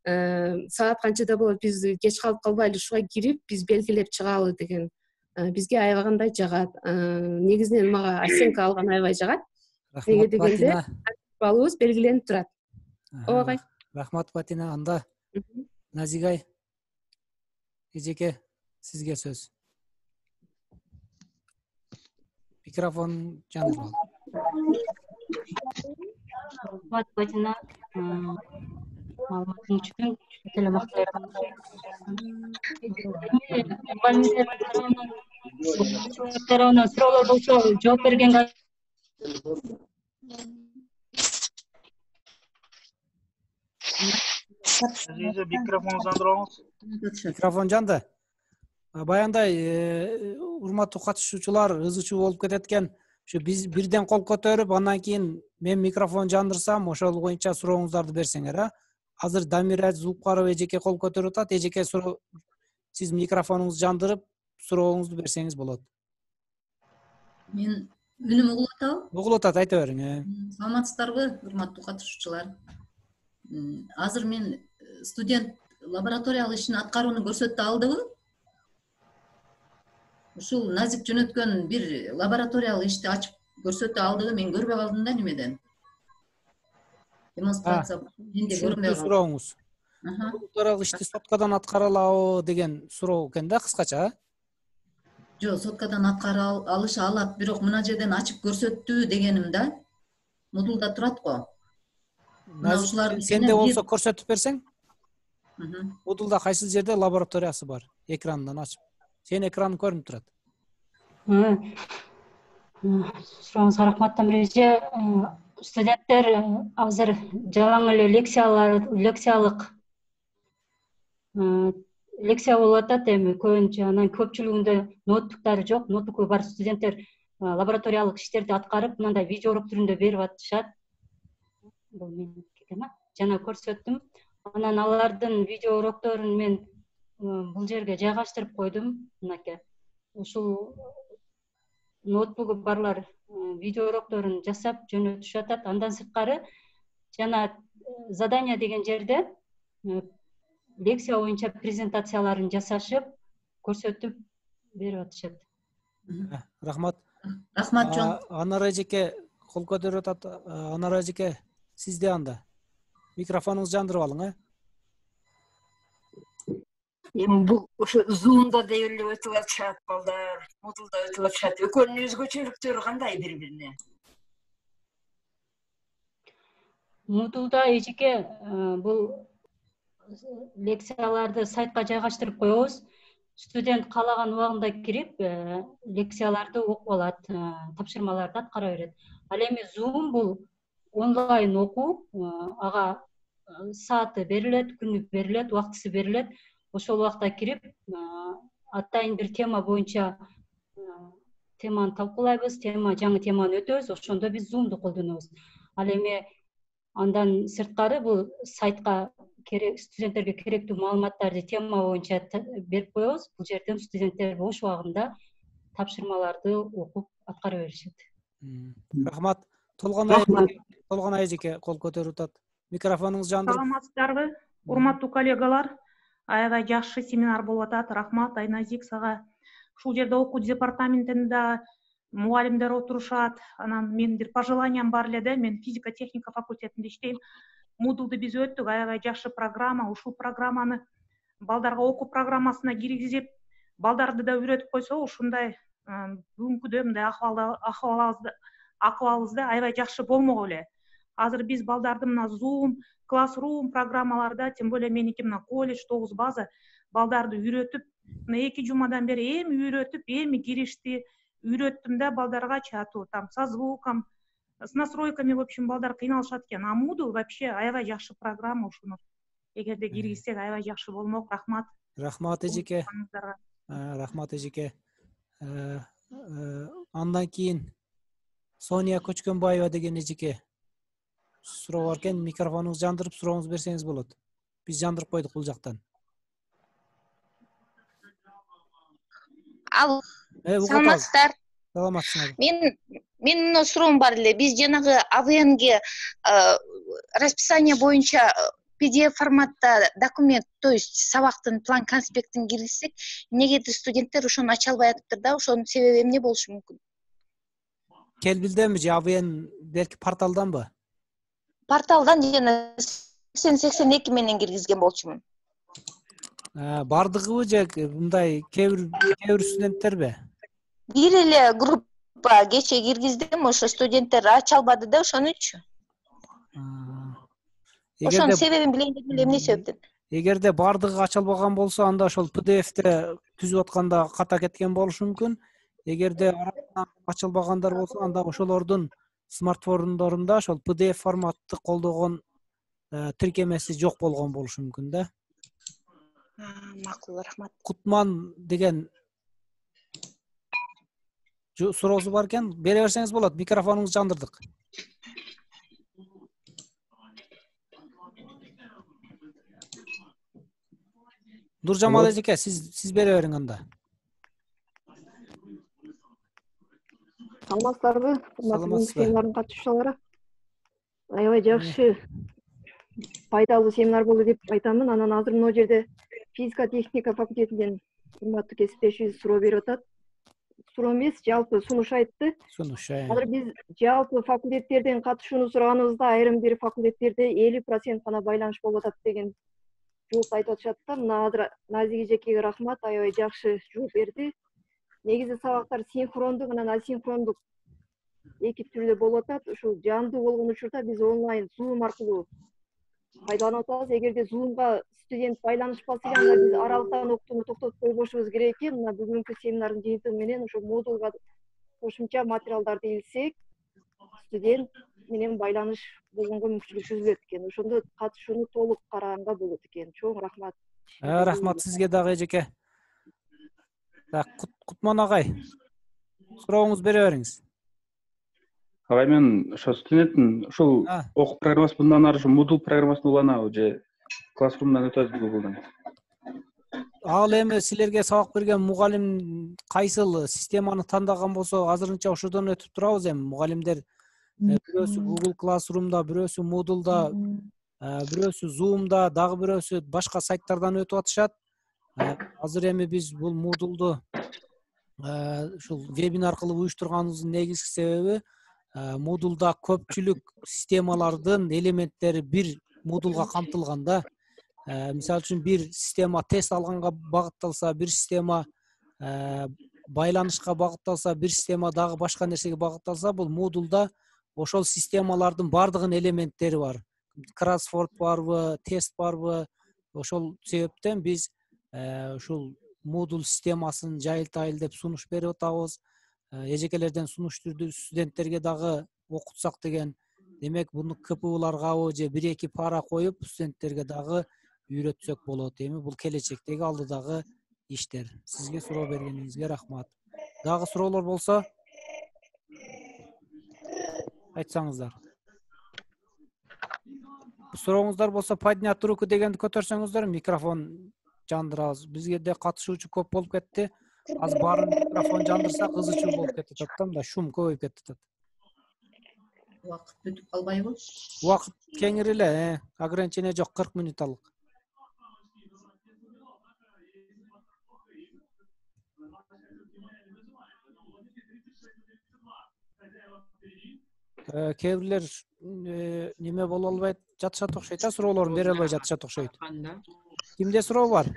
Speaker 6: Саат канчада болот? Биз кеч калып калбайлы ушуга кирип, биз белгилеп чыгалы деген бизге аябагандай жагат. Негизинен мага оценка алган аябай жагат. Неге
Speaker 2: Рахмат
Speaker 6: дегенде
Speaker 2: Батина.
Speaker 6: балыбыз белгиленип турат. Ооба.
Speaker 2: Рахмат Батина. Анда Назигай эжеке сизге сөз. Микрофон жандырып ал.
Speaker 1: Рахмат Батина. Маалыматың үчүн телемактар. Тарабынан суроолор болсо жооп бергенге
Speaker 5: Азиза, микрофон жандырыңыз.
Speaker 2: Микрофон жанды. Баяндай урматтуу катышуучулар ызы чуу болуп кетет экен. Ушу биз бирден кол көтөрүп, андан кийин мен микрофон жандырсам, ошол боюнча сурооңуздарды берсеңер, Азыр Дамира Зулукбарова эжеке кол көтөрүп атат. Эжеке суроо, сиз микрофонуңузду жандырып, сурооңузду берсеңиз болот.
Speaker 7: Мен үнүм угулуп атабы?
Speaker 2: Угулуп атат, айта бериң.
Speaker 7: Саламатсыздарбы, урматтуу катышуучулар? Азыр мен студент лабораториялык ишин аткарууну көрсөтө алдыбы? Ушул Назик жөнөткөн бир лабораториялык ишти ачып көрсөтө алдыбы, мен көрбөй калдым да немеден. Демонстрация менде көрүнбөй калды.
Speaker 2: Сурооңуз. Лабораториялык ишти соткадан аткара алабы деген суроо экен да, кыскача.
Speaker 7: Жок, соткадан аткара алыша алат, бирок мына жерден ачып көрсөттү дегеним да. Модулда турат го.
Speaker 2: Сенде болсо көрсөтүп берсең. Модулда кайсы жерде лабораториясы бар? Экрандан ачып. Сен экраны көрүнүп турат.
Speaker 1: Сурооңузга рахмат Дамир эже. Студенттер азыр жалаң эле лекция болуп атат эми көбүнчө, анан көпчүлүгүндө ноутбуктары жок, ноутбуку бар студенттер лабораториялык иштерди аткарып, мындай видео урок түрүндө берип атышат. Бул мен жана көрсөттүм. Анан алардын видео урокторун мен бул жерге жайгаштырып койдум, мынакей. Ушул ноутбугу барлар видео урокторун жасап жөнөтүшүп атат. Андан сырткары жана задание деген жерде лекция боюнча презентацияларын жасашып, көрсөтүп берип атышат.
Speaker 2: Рахмат.
Speaker 7: Рахмат жон.
Speaker 2: Анар эжеке кол көтөрүп атат. Анар эжеке, сизде анда. Микрофонуңузду жандырып алың,
Speaker 8: Эми бул ошо Zoom'да деп эле өтүп атышат балдар, модулда өтүп атышат. Экөөнүн өзгөчөлүктөрү кандай бири-бирине?
Speaker 1: Модулда эжеке бул лекцияларды сайтка жайгаштырып коебуз. Студент каалаган убагында кирип, лекцияларды окуп алат, тапшырмаларды аткара берет. Ал эми Zoom бул онлайн окуу, ага сааты берилет, күнү берилет, убактысы берилет. Ошол убакта кирип, атайын бир тема боюнча теманы талкуулайбыз, жаңы теманы өтөбүз, ошондо биз Zoom'ду колдонобуз. Ал эми андан сырткары бул сайтка студенттерге керектүү маалыматтарды тема боюнча берип коебуз. Бул жерден студенттер бош убагында тапшырмаларды окуп аткара беришет.
Speaker 2: Рахмат. Толгонай эжеке кол көтөрүп атат. Микрофонуңузду жандырып.
Speaker 9: Саламатсыздарбы, урматтуу коллегалар? Аябай жакшы семинар болуп атат. Рахмат Айназик сага. Ушул жерде окуу департаментинде мугалимдер отурушат. Анан менин бир пожеланиям бар эле да, мен физика техника факультетинде иштейм. Модулду биз өттүк, аябай жакшы программа. Ушул программаны балдарга окуу программасына киргизип, балдарды да үйрөтүп койсо, ушундай бүгүнкүдөй мындай акыбалыбызда аябай жакшы болмок эле. Азыр биз балдарды мына Zoom, Classroom программаларда, тем более меники мына колледж 9 база балдарды үйрөтүп, мына 2 жумадан бери эми үйрөтүп, эми киришти, үйрөттүм да балдарга чатуу, там со звуком, с настройками, в общем, балдар кыйналышат экен. А Moodle вообще аябай жакшы программа, ушуну эгерде киргизсек аябай жакшы болмок. Рахмат.
Speaker 2: Рахмат эжеке. Рахмат эжеке. Андан кийин Соня Көчкөнбаева деген эжеке суроо бар экен, микрофонуңузду жандырып сурооңузду берсеңиз болот. Биз жандырып койдук бул жактан.
Speaker 10: Ал. Саламатсыздар.
Speaker 2: Саламатсыздар.
Speaker 10: Менин суроом бар эле. Биз жанагы АВНге расписание боюнча PDF форматта документ, то есть сабактын план конспектин киргизсек, негедир студенттер ошону ача албай атыптыр да, ошонун себеби эмне болушу мүмкүн?
Speaker 2: Келбилденби же АВН белки порталданбы?
Speaker 10: Порталдан жана 80-82 менен киргизген болчумун.
Speaker 2: Бардыгыбы же мындай кээ бир студенттерби?
Speaker 10: Бир эле группа кече киргиздим, ошо студенттер ача албады да, ошон үчүн. Ошонун себебин билейин дедим эле, эмне себептен?
Speaker 2: Эгерде бардыгы ачылбаган болсо, анда ошол PDF-те түзүп атканда ката кеткен болушу мүмкүн. Эгерде арасынан ачылбагандар болсо, анда ошолордун смартфондорунда ошол PDF форматты колдогон тиркемеси жок болгон болушу мүмкүн да.
Speaker 10: Макул, рахмат.
Speaker 2: Кутман деген суроосу бар экен, бере берсеңиз болот. Микрофонуңузду жандырдык. Нуржамал эжеке, сиз бере бериң анда.
Speaker 11: Саламатсыздарбы? Семинардын катышуучулары. Аябай жакшы, пайдалуу семинар болду деп айтамын. Анан азыр мына жерде физика техника факультетинен урматтуу кесиптешибиз суроо берип атат. Суроо эмес, жалпы сунуш айтты.
Speaker 2: Сунуш.
Speaker 11: Азыр биз жалпы факультеттерден катышууну сураганыбызда айрым бир факультеттерде 50% гана байланыш болуп атат деген жооп айтып атышат да. Мына азыр Назик эжекеге рахмат, аябай жакшы жооп берди. Негизи сабактар синхрондук, анан асинхрондук эки түрдө болуп атат. Ушул жандуу болгон учурда биз онлайн Zoom аркылуу пайдаланып атабыз. Эгерде Zoom'га студент байланышпаса, анда биз аралыктан окутууну токтотуп койбошубуз керек экен. Мына бүгүнкү семинардын жыйынтыгы менен ошо модулга кошумча материалдарды илсек, студент менен байланыш болгонго мүмкүнчүлүк түзүлөт экен. Ошондо катышууну толук караганга болот экен. Чоң рахмат.
Speaker 2: Рахмат сизге дагы эжеке. Кутман агай, сурооңузду бере бериңиз.
Speaker 12: Агай, мен ошо студенттин ушул окуу программасы мындан ары ушу Moodle программасын уланабы же Classroom'дан өтөбү Google'дан?
Speaker 2: Ал эми силерге сабак берген мугалим кайсыл системаны тандаган болсо, азырынча ошодон өтүп турабыз. Эми мугалимдер бирөөсү Google Classroom'да, бирөөсү Moodle'да, бирөөсү Zoom'да, дагы бирөөсү башка сайттардан өтүп атышат. Азыр эми биз бул Moodle'ду ушул вебинар аркылуу уюштурганыбыздын негизги себеби Moodle'да көпчүлүк системалардын элементтери бир Moodle'га камтылганда, мисалы үчүн бир система тест алганга багытталса, бир система байланышка багытталса, бир система дагы башка нерсеге багытталса, бул Moodle'да ошол системалардын бардыгынын элементтери бар. Кроссворд барбы, тест барбы? Ошол себептен биз ушул Moodle системасын жайылтайын деп сунуш берип атабыз. Эжекелерден сунуш түрдү студенттерге дагы окутсак деген. Демек, буну КПУларгабы же 1-2 пара коюп, студенттерге дагы үйрөтсөк болот. Эми бул келечектеги алдыдагы иштер. Сизге суроо бергениңизге рахмат. Дагы суроолор болсо айтсаңыздар. Сурооңуздар болсо поднять руку дегенди көтөрсөңүздөр, микрофон жандырабыз. Бизге де катышуучу көп болуп кетти. Аз баарын микрофон жандырсак ызы чуу болуп кетип атат да, шум көбөйүп кетип атат.
Speaker 7: Убакыт бүтүп калбайбы?
Speaker 2: Убакыт кеңири эле, ограничение жок, 40 минуталык. Кээ бирлер неме боло албайт, жатышат окшойт, суроолорун бере албай жатышат окшойт. Кимде суроо бар?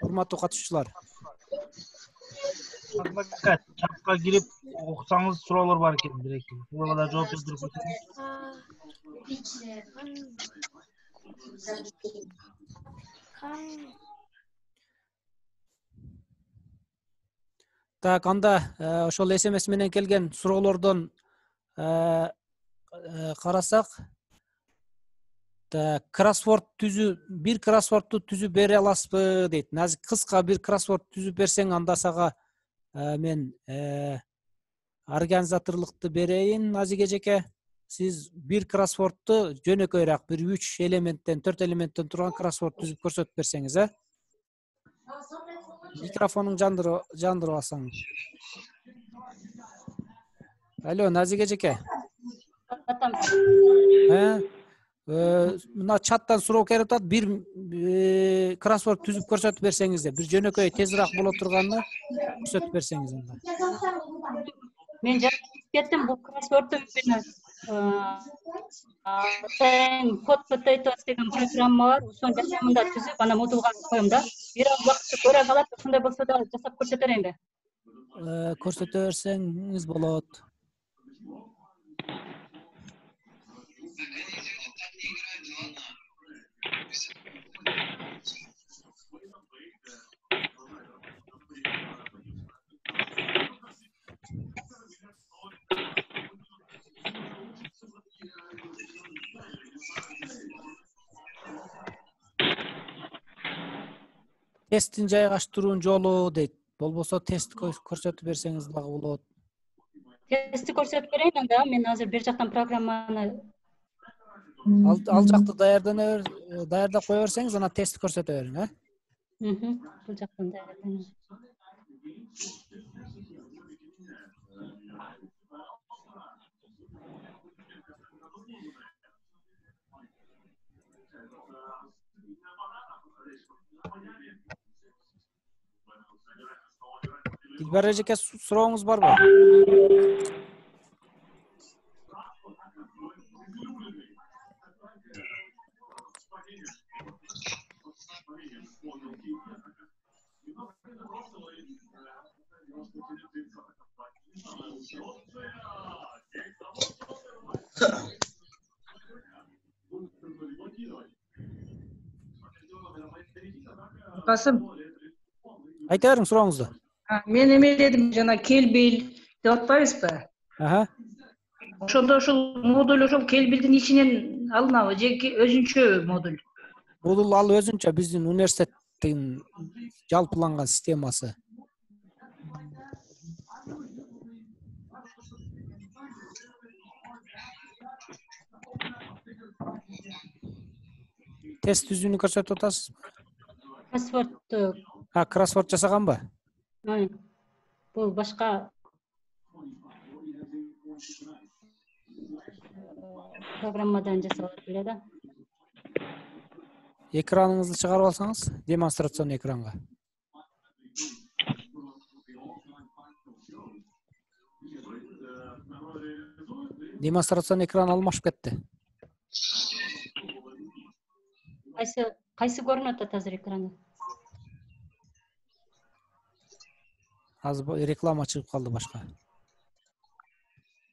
Speaker 2: Урматтуу катышуучулар.
Speaker 5: Чатка кирип окусаңыз суроолор бар экен, бир-эки. Суроолорго жооп берип кетсеңиз.
Speaker 2: Так, анда ошол SMS менен келген суроолордон карасак, кроссворд бир кроссвордду түзүп бере аласызбы дейт. Назик, кыска бир кроссворд түзүп берсең, анда сага мен организаторлукту берейин. Назик эжеке, сиз бир кроссвордду жөнөкөйрөөк, бир 3 элементтен, 4 элементтен турган кроссворд түзүп көрсөтүп берсеңиз, Микрофонуң жандырып алсаң. Алло, Назик эжеке. Мына чаттан суроо келип атат. Бир кроссворд түзүп көрсөтүп берсеңиз де, бир жөнөкөй тезирээк боло турганын көрсөтүп берсеңиз анда.
Speaker 1: Мен жаңы кеттим, бул кроссвордту код potatoes деген программа бар. Ошонун жашамында түзүп, ана модулга коем да. Бир аз убакытты көрө калат, ошондой болсо да жасап көрсөтө берейинби?
Speaker 2: Көрсөтө берсеңиз болот. Тесттин жайгаштыруунун жолу дейт. Болбосо тест көрсөтүп берсеңиз дагы болот.
Speaker 1: Тестти көрсөтүп берейин анда. Мен азыр бир жактан программаны
Speaker 2: Ал жакты даярдап кое берсеңиз, анан тестти көрсөтө бериң,
Speaker 1: бул жактан даярдайм.
Speaker 2: Дилбар эжеке, сурооңуз барбы?
Speaker 13: Касым,
Speaker 2: Айта бериң сурооңузду.
Speaker 13: мен эмеледим жана келбил деп атпайбызбы? Ошондо ушул модуль ошол келбилдин ичинен алынабы же өзүнчө модуль?
Speaker 2: Модуль ал өзүнчө биздин университеттин жалпыланган системасы. Тест түзүүнү көрсөтүп атасыз.
Speaker 1: Кроссвордту.
Speaker 2: Кроссворд жасаганбы?
Speaker 1: Бул башка программадан жасалат эле да.
Speaker 2: Экраныңызды чыгарып алсаңыз, демонстрацион экранга. Демонстрацион экран алмашып кетти.
Speaker 1: Кайсы көрүнүп атат азыр экранда?
Speaker 2: Азыр реклама чыгып калды башка.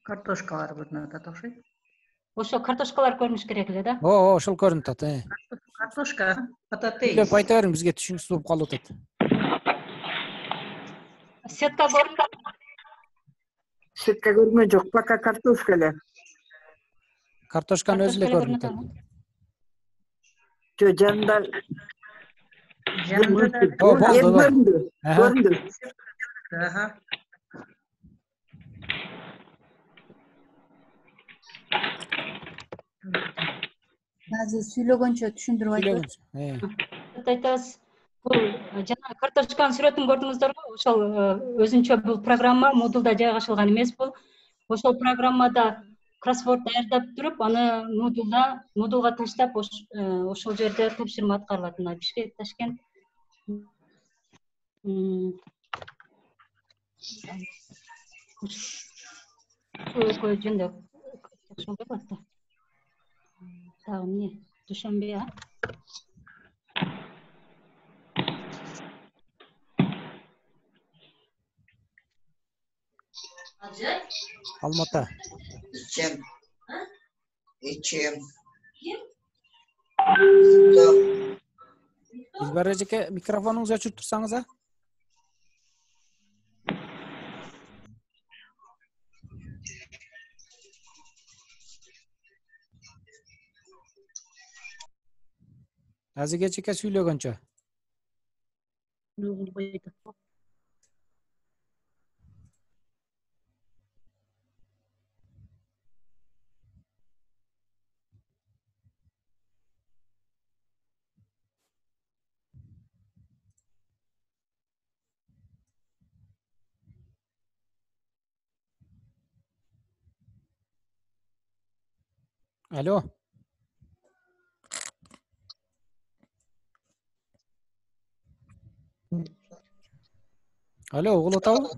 Speaker 13: Картошкалар көрүнүп атат окшойт.
Speaker 1: Ошо картошкалар көрүнүш керек эле да.
Speaker 2: Ошол көрүнүп атат.
Speaker 13: Картошка, пататейс.
Speaker 2: Деп айта бериң, бизге түшүнүксүз болуп калып атат.
Speaker 1: Сетка көрүнүп.
Speaker 8: Сетка көрүнмөй жок, пока картошка эле.
Speaker 2: Картошканы өзү эле көрүнүп атат.
Speaker 8: Жо жанында.
Speaker 2: Болду.
Speaker 8: Көрүндү.
Speaker 7: Азыр сүйлөгөнчө түшүндүрүп айтып.
Speaker 1: Айтасыз, бул жана картошканын сүрөтүн көрдүңүздөрбү? Ошол өзүнчө бул программа модулда жайгашылган эмес бул. Ошол программада кроссворд даярдап туруп, аны модулга таштап, ошол жерде тапшырма аткарылат. Мына Бишкек, Ташкент. Экөө жөнүндө жакшы болот да. Дагы эмне? Душанбе,
Speaker 2: Алмата.
Speaker 14: Ичем.
Speaker 2: Дилбар эжеке, микрофонуңузду өчүрүп турсаңыз, Азыр эжеке сүйлөгөнчө. Алло. Алло, угулуп атабы?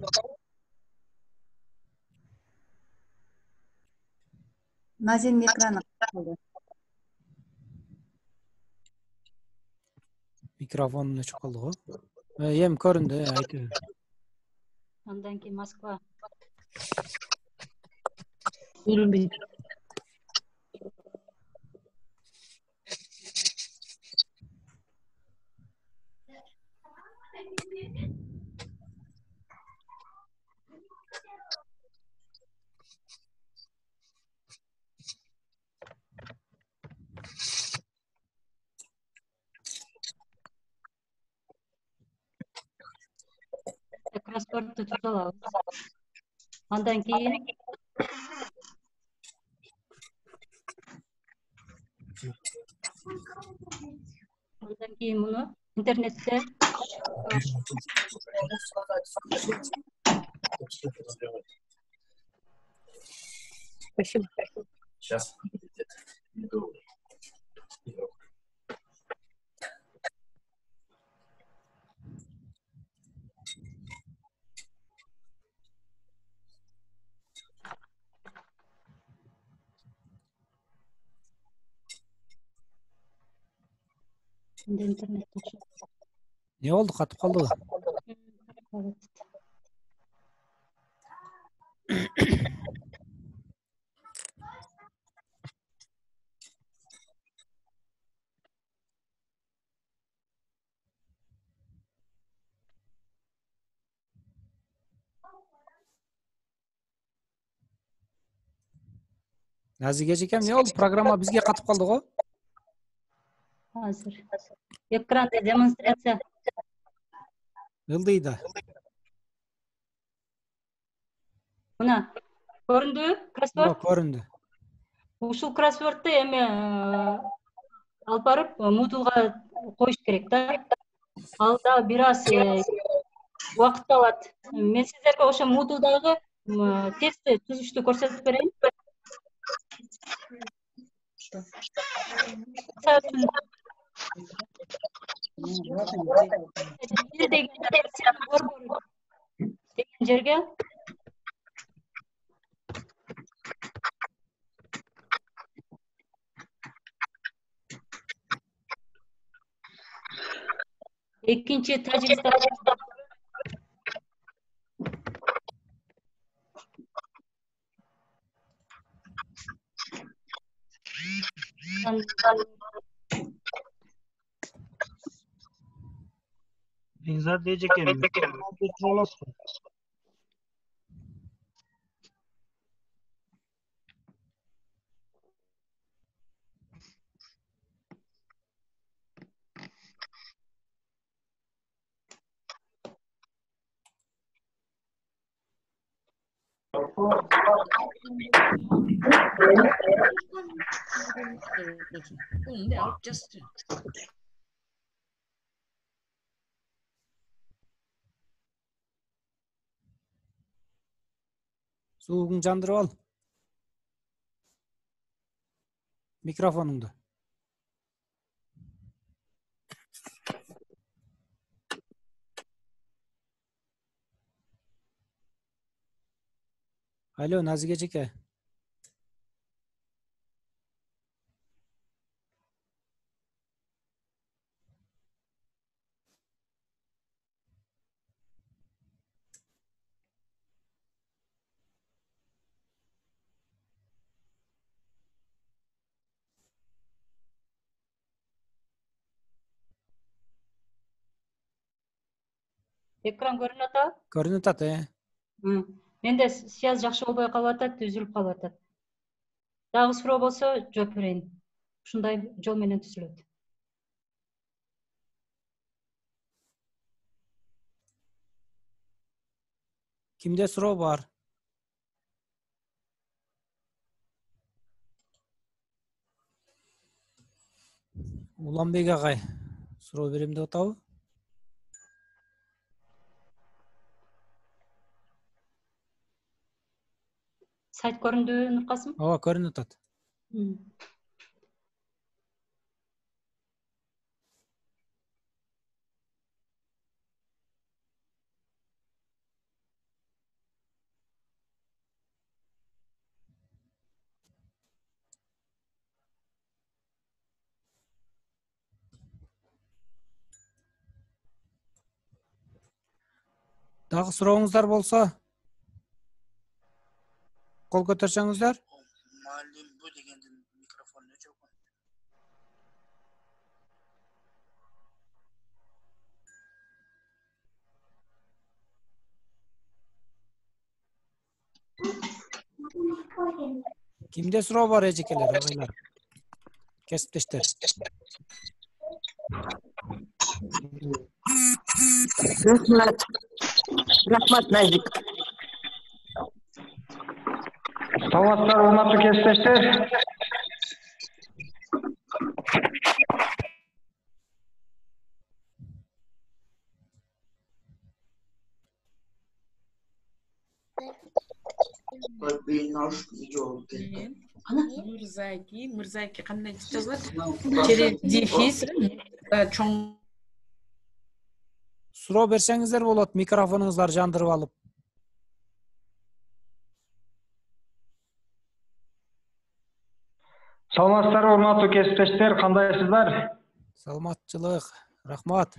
Speaker 7: Назинин экраны калды.
Speaker 2: Микрофонун өчүп калды го. Эми көрүндү, айтып бер.
Speaker 1: Андан кийин Москва.
Speaker 13: Көрүнбөйт.
Speaker 1: Кроссвордду түзүп алабыз. Андан кийин муну интернетте
Speaker 13: Спасибо.
Speaker 14: Сейчас.
Speaker 1: интернетте
Speaker 2: Не болду, катып калдыбы? Назиге эжекем, не болду? Программа бизге катып калды го?
Speaker 1: Азыр экранда демонстрация
Speaker 2: Ылдый да.
Speaker 1: мына көрүндүбү? Кроссворд.
Speaker 2: Көрүндү.
Speaker 1: Ушул кроссвордду эми алып барып Moodleга коюш керек да. Ал да бир аз убакыт алат. Мен сиздерге ошо Moodledагы тестти түзүштү көрсөтүп берейин. Деген жерге экинчи тажрыйба
Speaker 5: Бекзат эжекем, тура аласызбы?
Speaker 2: Суугуңду жандырып ал. Микрофонуңду. Алло, Назиге эжеке.
Speaker 1: экран көрүнүп атабы?
Speaker 2: Көрүнүп атат,
Speaker 1: Менде связь жакшы болбой калып атат, үзүлүп калып атат. Дагы суроо болсо жооп берейин. Ушундай жол менен түзүлөт.
Speaker 2: Кимде суроо бар? Уланбек агай суроо берем деп атабы?
Speaker 1: Сайт көрүндүбү, Нуркасым?
Speaker 2: Ооба, көрүнүп атат. Дагы сурооңуздар болсо кол көтөрсөңүздөр.
Speaker 14: Muallim bu degenden mikrofonunu o'chirib
Speaker 2: Kimde суроо бар эжекелер, агайлар? Кесиптештер.
Speaker 15: Рахмат, Назик.
Speaker 16: Саламатсыздар, урматтуу кесиптештер.
Speaker 13: Мырзаки кандай жазылат? Через дефис чоң.
Speaker 2: Суроо берсеңиздер болот, микрофонуңуздар жандырып алып.
Speaker 16: Саламатсыздар, урматтуу кесиптештер, кандайсыздар?
Speaker 2: Саламатчылык, рахмат.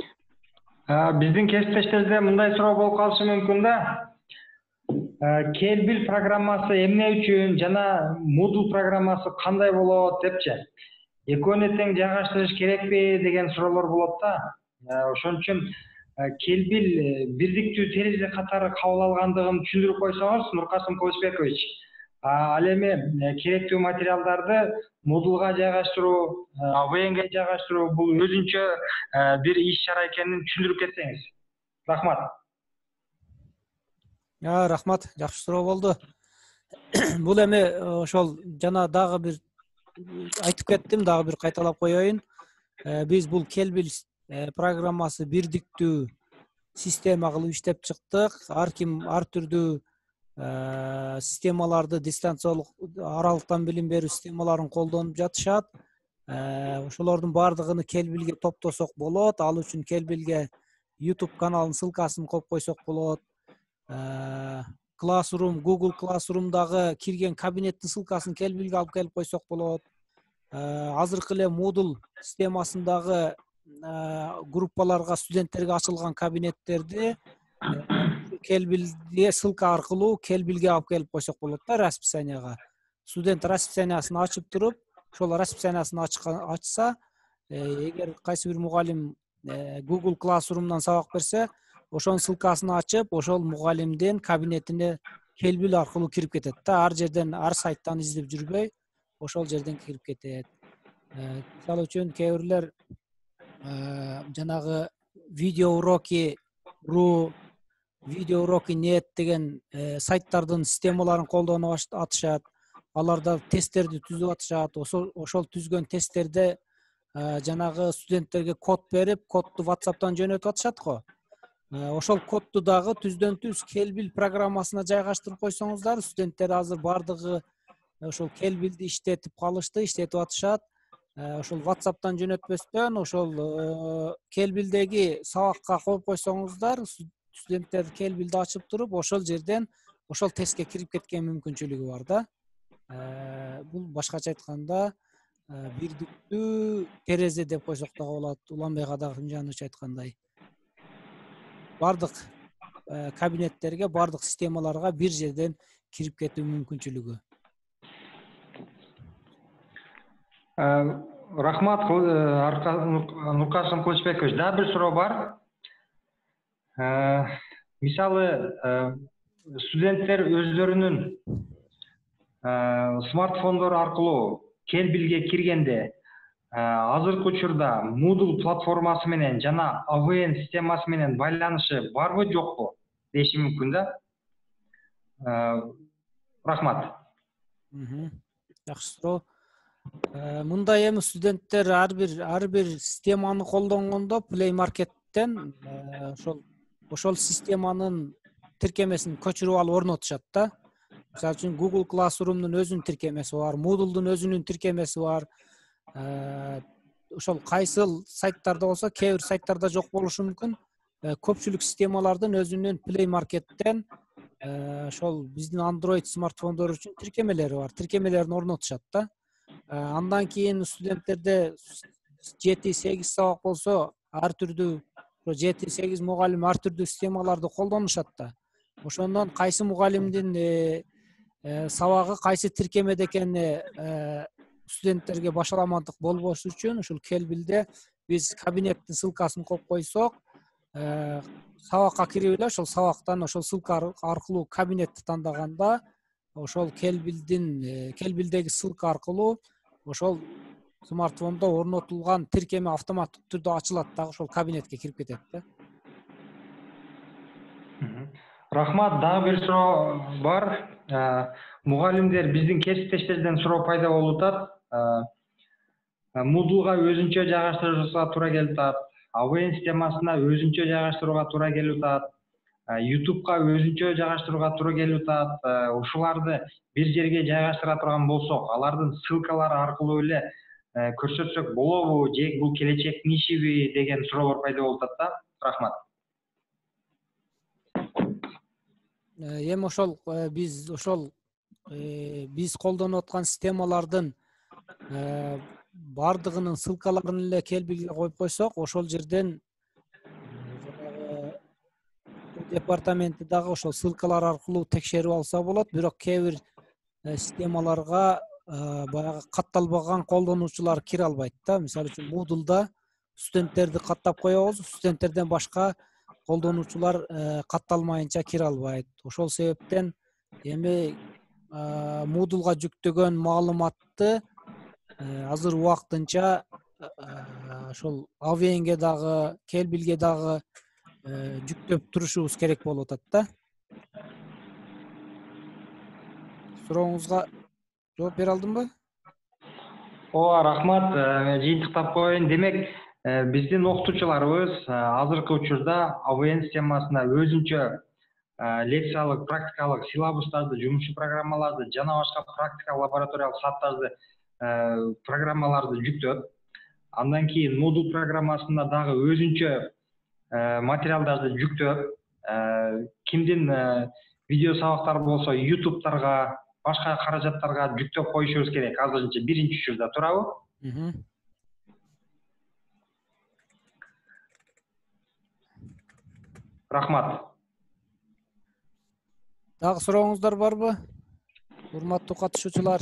Speaker 16: Биздин кесиптештерде мындай суроо болуп калышы мүмкүн да. Келбил программасы эмне үчүн жана Moodle программасы кандай болот депчи. Экөөнү тең жайгаштырыш керекпи деген суроолор болот да. Ошон үчүн келбил бирдиктүү терезе катары кабыл алгандыгын түшүндүрүп койсоңуз, Нуркасым Кылычбекович. Ал эми керектүү материалдарды Moodle'га жайгаштыруу, AVN'ге жайгаштыруу бул өзүнчө бир иш чара экенин түшүндүрүп кетсеңиз. Рахмат.
Speaker 2: Рахмат, жакшы суроо болду. Бул эми ошол жана дагы бир айтып кеттим, дагы бир кайталап коеюн. Биз бул келбил программасы бирдиктүү система кылып иштеп чыктык. Ар ким ар түрдүү системаларды, дистанциялык аралыктан билим берүү системаларын колдонуп жатышат. Ошолордун баардыгын келбилге топтосок болот. Ал үчүн келбилге YouTube каналынын ссылкасын коюп койсок болот. Classroom, Google Classroom'дагы кирген кабинеттин ссылкасын келбилге алып келип койсок болот. Азыркы эле Moodle системасындагы группаларга, студенттерге ачылган кабинеттерди келбилге ссылка аркылуу келбилге алып келип койсок болот да, расписанияга. Студент расписаниясын ачып туруп, ошол расписаниясын ачса, эгер кайсы бир мугалим Google Classroom'дан сабак берсе, ошонун ссылкасын ачып, ошол мугалимдин кабинетине келбил аркылуу кирип кетет да. Ар жерден, ар сайттан издеп жүрбөй, ошол жерден кирип кетет. Мисалы үчүн кээ бирлер жанагы видеоуроки.ru, видеоуроки.net деген сайттардын системаларын колдонуп атышат. Аларда тесттерди түзүп атышат. Ошол түзгөн тесттерде жанагы студенттерге код берип, кодду WhatsApp'тан жөнөтүп атышат го. Ошол кодду дагы түздөн түз келбил программасына жайгаштырып койсоңуздар, студенттер азыр бардыгы ошол келбилди иштетип калышты, иштетип атышат. Ошол WhatsApp'тан жөнөтпөстөн, ошол келбилдеги сабакка коюп койсоңуздар, студенттер келбилди ачып туруп, ошол жерден ошол тестке кирип кеткен мүмкүнчүлүгү бар да. Бул башкача айтканда бирдиктүү терезе деп койсок дагы болот. Уланбек Кадыржанович айткандай. Бардык кабинеттерге, бардык системаларга бир жерден кирип кетүү мүмкүнчүлүгү.
Speaker 16: Рахмат, Нуркасым Кылычбекович. Дагы бир суроо бар. Мисалы, студенттер өздөрүнүн смартфондор аркылуу келбилге киргенде азыркы учурда Moodle платформасы менен жана AVN системасы менен байланышы барбы жокпу деши мүмкүн да. Рахмат.
Speaker 2: Жакшы суроо. Мындай эми студенттер ар бир системаны колдонгондо Play Market'тен ошол системанын тиркемесин көчүрүп алып орнотушат да. Мисалы үчүн Google Classroom'дун өзүнүн тиркемеси бар, Moodle'дун өзүнүн тиркемеси бар. Ошол кайсыл сайттарда болсо, кээ бир сайттарда жок болушу мүмкүн. Көпчүлүк системалардын өзүнүн Play Market'тен ошол биздин Android смартфондор үчүн тиркемелери бар. Тиркемелерин орнотушат да. Андан кийин студенттерде 7-8 сабак болсо, ар түрдүү 7-8 мугалим ар түрдүү системаларды колдонушат да. Ошондон кайсы мугалимдин сабагы кайсы тиркемеде экени студенттерге башаламандык болбош үчүн ушул Келбилде биз кабинеттин ссылкасын коюп койсок, сабакка кирип эле ошол сабактан ошол ссылка аркылуу кабинетти тандаганда ошол Келбилдеги ссылка аркылуу ошол смартфондо орнотулган тиркеме автоматтык түрдө ачылат дагы ошол кабинетке кирип кетет да.
Speaker 16: Рахмат, дагы бир суроо бар. Мугалимдер биздин кесиптештерден суроо пайда болуп атат. Moodle'га өзүнчө жайгаштырууга туура келип атат. AVN системасына өзүнчө жайгаштырууга туура келип атат. YouTube'га өзүнчө жайгаштырууга туура келип атат. Ушуларды бир жерге жайгаштыра турган болсок, алардын ссылкалары аркылуу эле көрсөтсөк болобу, же бул келечектин ишиби деген суроолор пайда болуп атат да. Рахмат.
Speaker 2: Эми ошол биз колдонуп аткан системалардын бардыгынын ссылкаларын эле Келбилге коюп койсок, ошол жерден департаменти дагы ошол ссылкалар аркылуу текшерип алса болот. Бирок кээ бир системаларга баягы катталбаган колдонуучулар кире албайт да. Мисалы үчүн Moodle'да студенттерди каттап коебуз, студенттерден башка колдонуучулар катталмайынча кире албайт. Ошол себептен эми Moodle'га жүктөгөн маалыматты азыр убактынча ошол AVN'ге дагы, Келбилге дагы жүктөп турушубуз керек болуп атат да. Сурооңузга жооп бере алдымбы?
Speaker 16: Ооба, рахмат. Жыйынтыктап коеюн. Демек, биздин окутуучуларыбыз азыркы учурда AVN системасына өзүнчө лекциялык, практикалык силабустарды, жумушчу программаларды жана башка практика лабораториялык сааттарды программаларды жүктөп, андан кийин Moodle программасында дагы өзүнчө материалдарды жүктөп, кимдин видео сабактары болсо YouTube'дарга, башка каражаттарга жүктөп коюшубуз керек. Азырынча биринчи учурда турабы? Рахмат.
Speaker 2: Дагы сурооңуздар барбы? Урматтуу катышуучулар.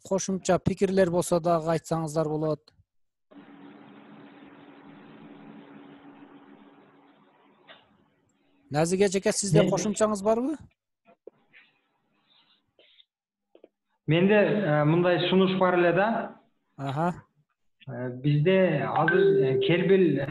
Speaker 2: Кошумча пикирлер болсо дагы айтсаңыздар болот. Назиге эжеке, сизде кошумчаңыз барбы?
Speaker 16: Менде мындай сунуш бар эле да. Бизде азыр Келбил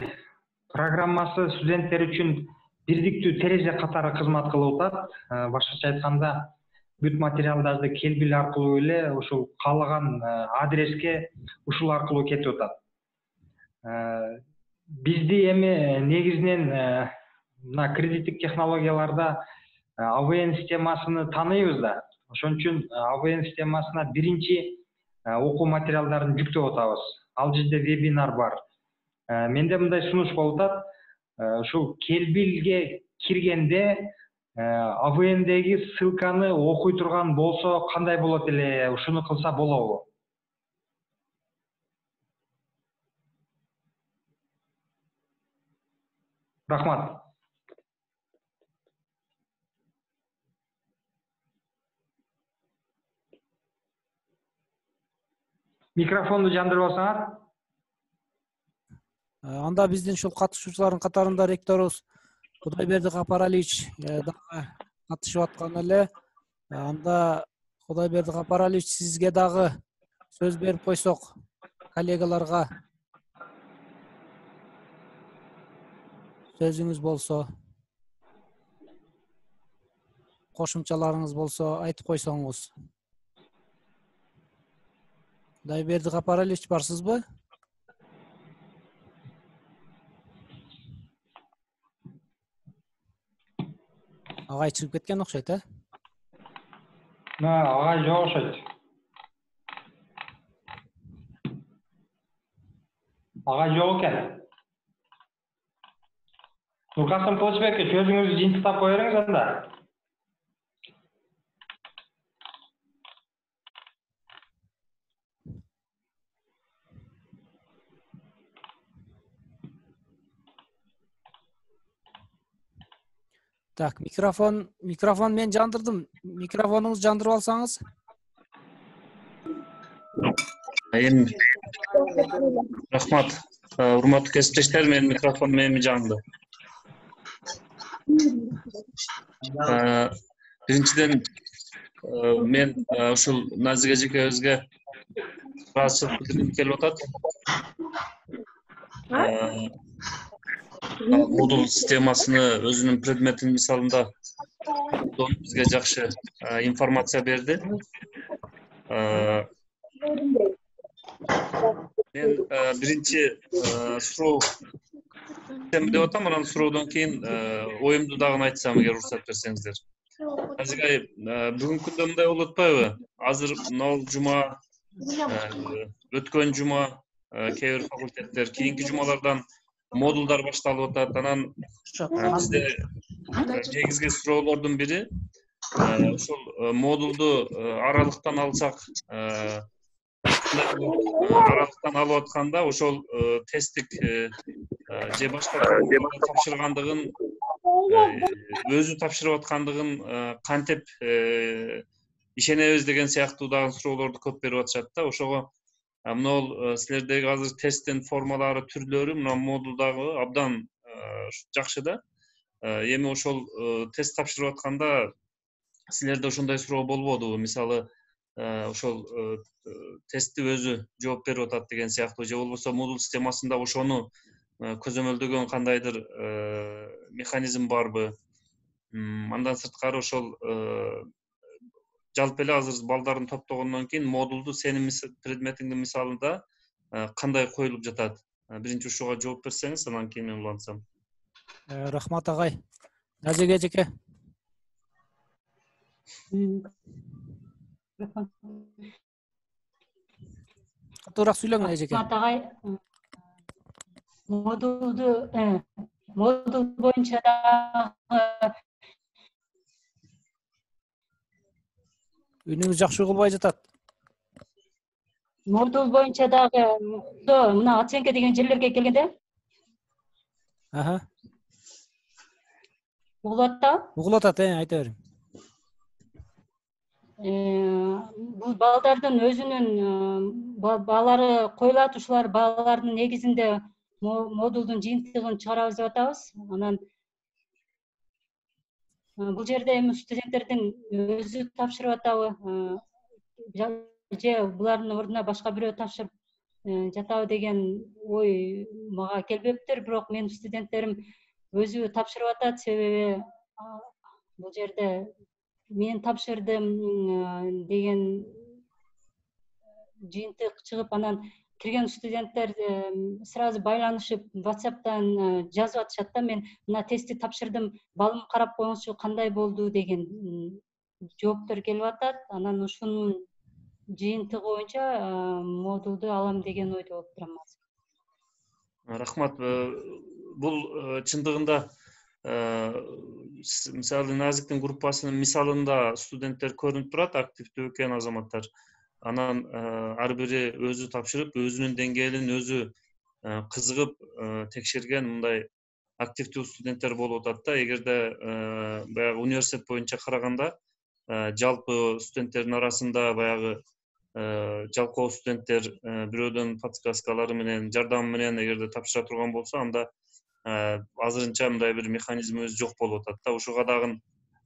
Speaker 16: программасы студенттер үчүн бирдиктүү терезе катары кызмат кылып атат. Башкача айтканда, бүт материалдарды Келбил аркылуу эле ушул каалаган адреске ушул аркылуу кетип атат. Бизди эми негизинен мына кредиттик технологияларда AVN системасыны тааныйбыз да. Ошон үчүн AVN системасына биринчи окуу материалдарын жүктөп атабыз. Ал жерде вебинар бар. Менде мындай сунуш болуп атат. Ушул Келбилге киргенде AVN'деги ссылканы окуй турган болсо кандай болот эле? Ушуну кылса болобу? Рахмат. Микрофонду жандырбасаңар.
Speaker 2: Анда биздин ушул катышуучулардын катарында ректорубуз Кудайберди Капаралиевич дагы катышып аткан эле. Анда Кудайберди Капаралиевич, сизге дагы сөз берип койсок, коллегаларга сөзүңүз болсо, кошумчаларыңыз болсо айтып койсоңуз. Кудайберди Капаралиевич, барсызбы? Агай чыгып кеткен окшойт,
Speaker 16: Агай жок окшойт. Агай жок экен. Нуркасым Кылычбекке сөзүңүздү жыйынтыктап кое бериңиз анда.
Speaker 2: Так, микрофон мен жандырдым. Микрофонуңузду жандырып алсаңыз.
Speaker 15: Рахмат. Урматтуу кесиптештер, менин микрофон эми жанды. Биринчиден мен ушул Назик эжекебизге ыраазычылык билдиргим келип атат. Moodle системасыны өзүнүн предметинин мисалында бизге жакшы информация берди. Мен биринчи суроо деп атам, анан суроодон кийин оюмду дагы айтсам, эгер уруксат берсеңиздер. Назик айым, бүгүнкү күндө мындай болуп атпайбы? Азыр мына жума, өткөн жума кээ бир факультеттер, кийинки жумалардан модулдар башталып атат. Анан бизде негизги суроолордун бири ошол модулду аралыктан алсак, аралыктан алып атканда ошол тесттик же башка тапшыргандыгын, өзү тапшырып аткандыгын кантип ишенебиз деген сыяктуу дагы суроолорду көп берип атышат да. Ошого мына силердеги азыр тесттин формалары, түрлөрү мына модулдагы абдан жакшы да. Эми ошол тест тапшырып атканда силерде ошондой суроо болбодубу? Мисалы, ошол тестти өзү жооп берип атат деген сыяктуу, же болбосо Moodle системасында ошону көзөмөлдөгөн кандайдыр механизм барбы? Андан сырткары ошол жалпы эле азыр балдарын топтогондон кийин модулду сенин предметиңдин мисалында кандай коюлуп жатат? Биринчи ушуга жооп берсеңиз, анан кийин мен улантсам.
Speaker 2: Рахмат агай. Назик эжеке. Катуураак сүйлөңүз эжеке.
Speaker 1: Рахмат агай. Модул боюнча дагы
Speaker 2: Үнүңүз жакшы угулбай жатат.
Speaker 1: Модул боюнча дагы мына оценка деген жерлерге келгенде. Угулат да?
Speaker 2: Угулат атат, айта бериң.
Speaker 1: Бул балдардын өзүнүн баалары коюлат, ушулар баалардын негизинде модулдун жыйынтыгын чыгарабыз деп атабыз. Анан бул жерде эми студенттердин өзү тапшырып атабы, же булардын ордуна башка бирөө тапшырып жатабы деген ой мага келбептир, бирок менин студенттерим өзү тапшырып атат. Себеби бул жерде мен тапшырдым деген жыйынтык чыгып, анан кирген студенттер сразу байланышып WhatsApp'тан жазып атышат да, мен мына тестти тапшырдым, балым карап коюңузчу, кандай болду деген жооптор келип атат. Анан ушунун жыйынтыгы боюнча модулду алам деген ойдо болуп турам азыр.
Speaker 15: Рахмат. Бул чындыгында мисалы Назиктин группасынын мисалында студенттер көрүнүп турат, активдүү экен азаматтар. Анан ар бири өзү тапшырып, өзүнүн деңгээлин өзү кызыгып текшерген мындай активдүү студенттер болуп атат да. Эгерде баягы университет боюнча караганда жалпы студенттердин арасында баягы жалкоо студенттер бирөөдөн подсказкалары менен, жардамы менен эгерде тапшыра турган болсо, анда азырынча мындай бир механизмибиз жок болуп атат да. Ушуга дагы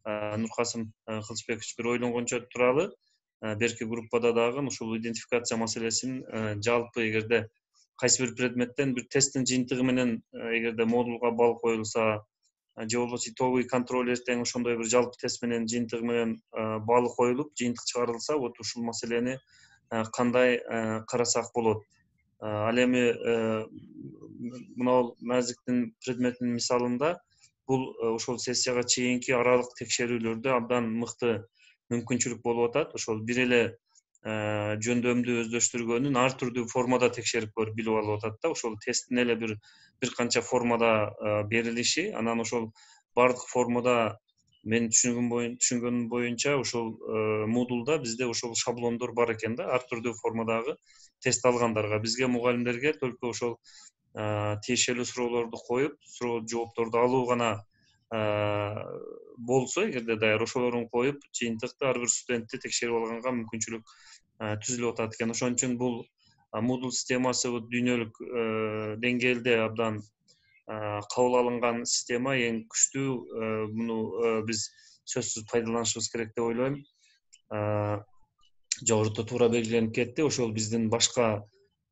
Speaker 15: Нуркасым Кылычбекович бир ойлонгончо туралы. Берки группада дагы ушул идентификация маселесин жалпы эгерде кайсы бир предметтен бир тесттин жыйынтыгы менен эгерде модулга балл коюлса, же болбосо итоговый контроль эртең ошондой бир жалпы тест менен жыйынтыгы менен баллы коюлуп, жыйынтык чыгарылса, вот ушул маселени кандай карасак болот. Ал эми мына Назиктин предметинин мисалында бул ошол сессияга чейинки аралык текшерүүлөрдө абдан мыкты мүмкүнчүлүк болуп атат. Ошол бир эле жөндөмдү өздөштүргөнүн ар түрдүү формада текшерип көрүп билип алып атат да. Ошол тесттин эле бир канча формада берилиши, анан ошол бардык формада менин түшүнгөнүм боюнча ошол Moodle'да бизде ошол шаблондор бар экен да, ар түрдүү формадагы тест алгандарга. Бизге мугалимдерге только ошол тиешелүү суроолорду коюп, суроо жоопторду алуу гана болсо, эгерде даяр ошолорун коюп, жыйынтыкты ар бир студентти текшерип алганга мүмкүнчүлүк түзүлүп атат экен. Ошон үчүн бул Moodle системасы дүйнөлүк деңгээлде абдан кабыл алынган система, эң күчтүү. Муну биз сөзсүз пайдаланышыбыз керек деп ойлойм. Жогоруда туура белгиленип кетти. Ошол биздин башка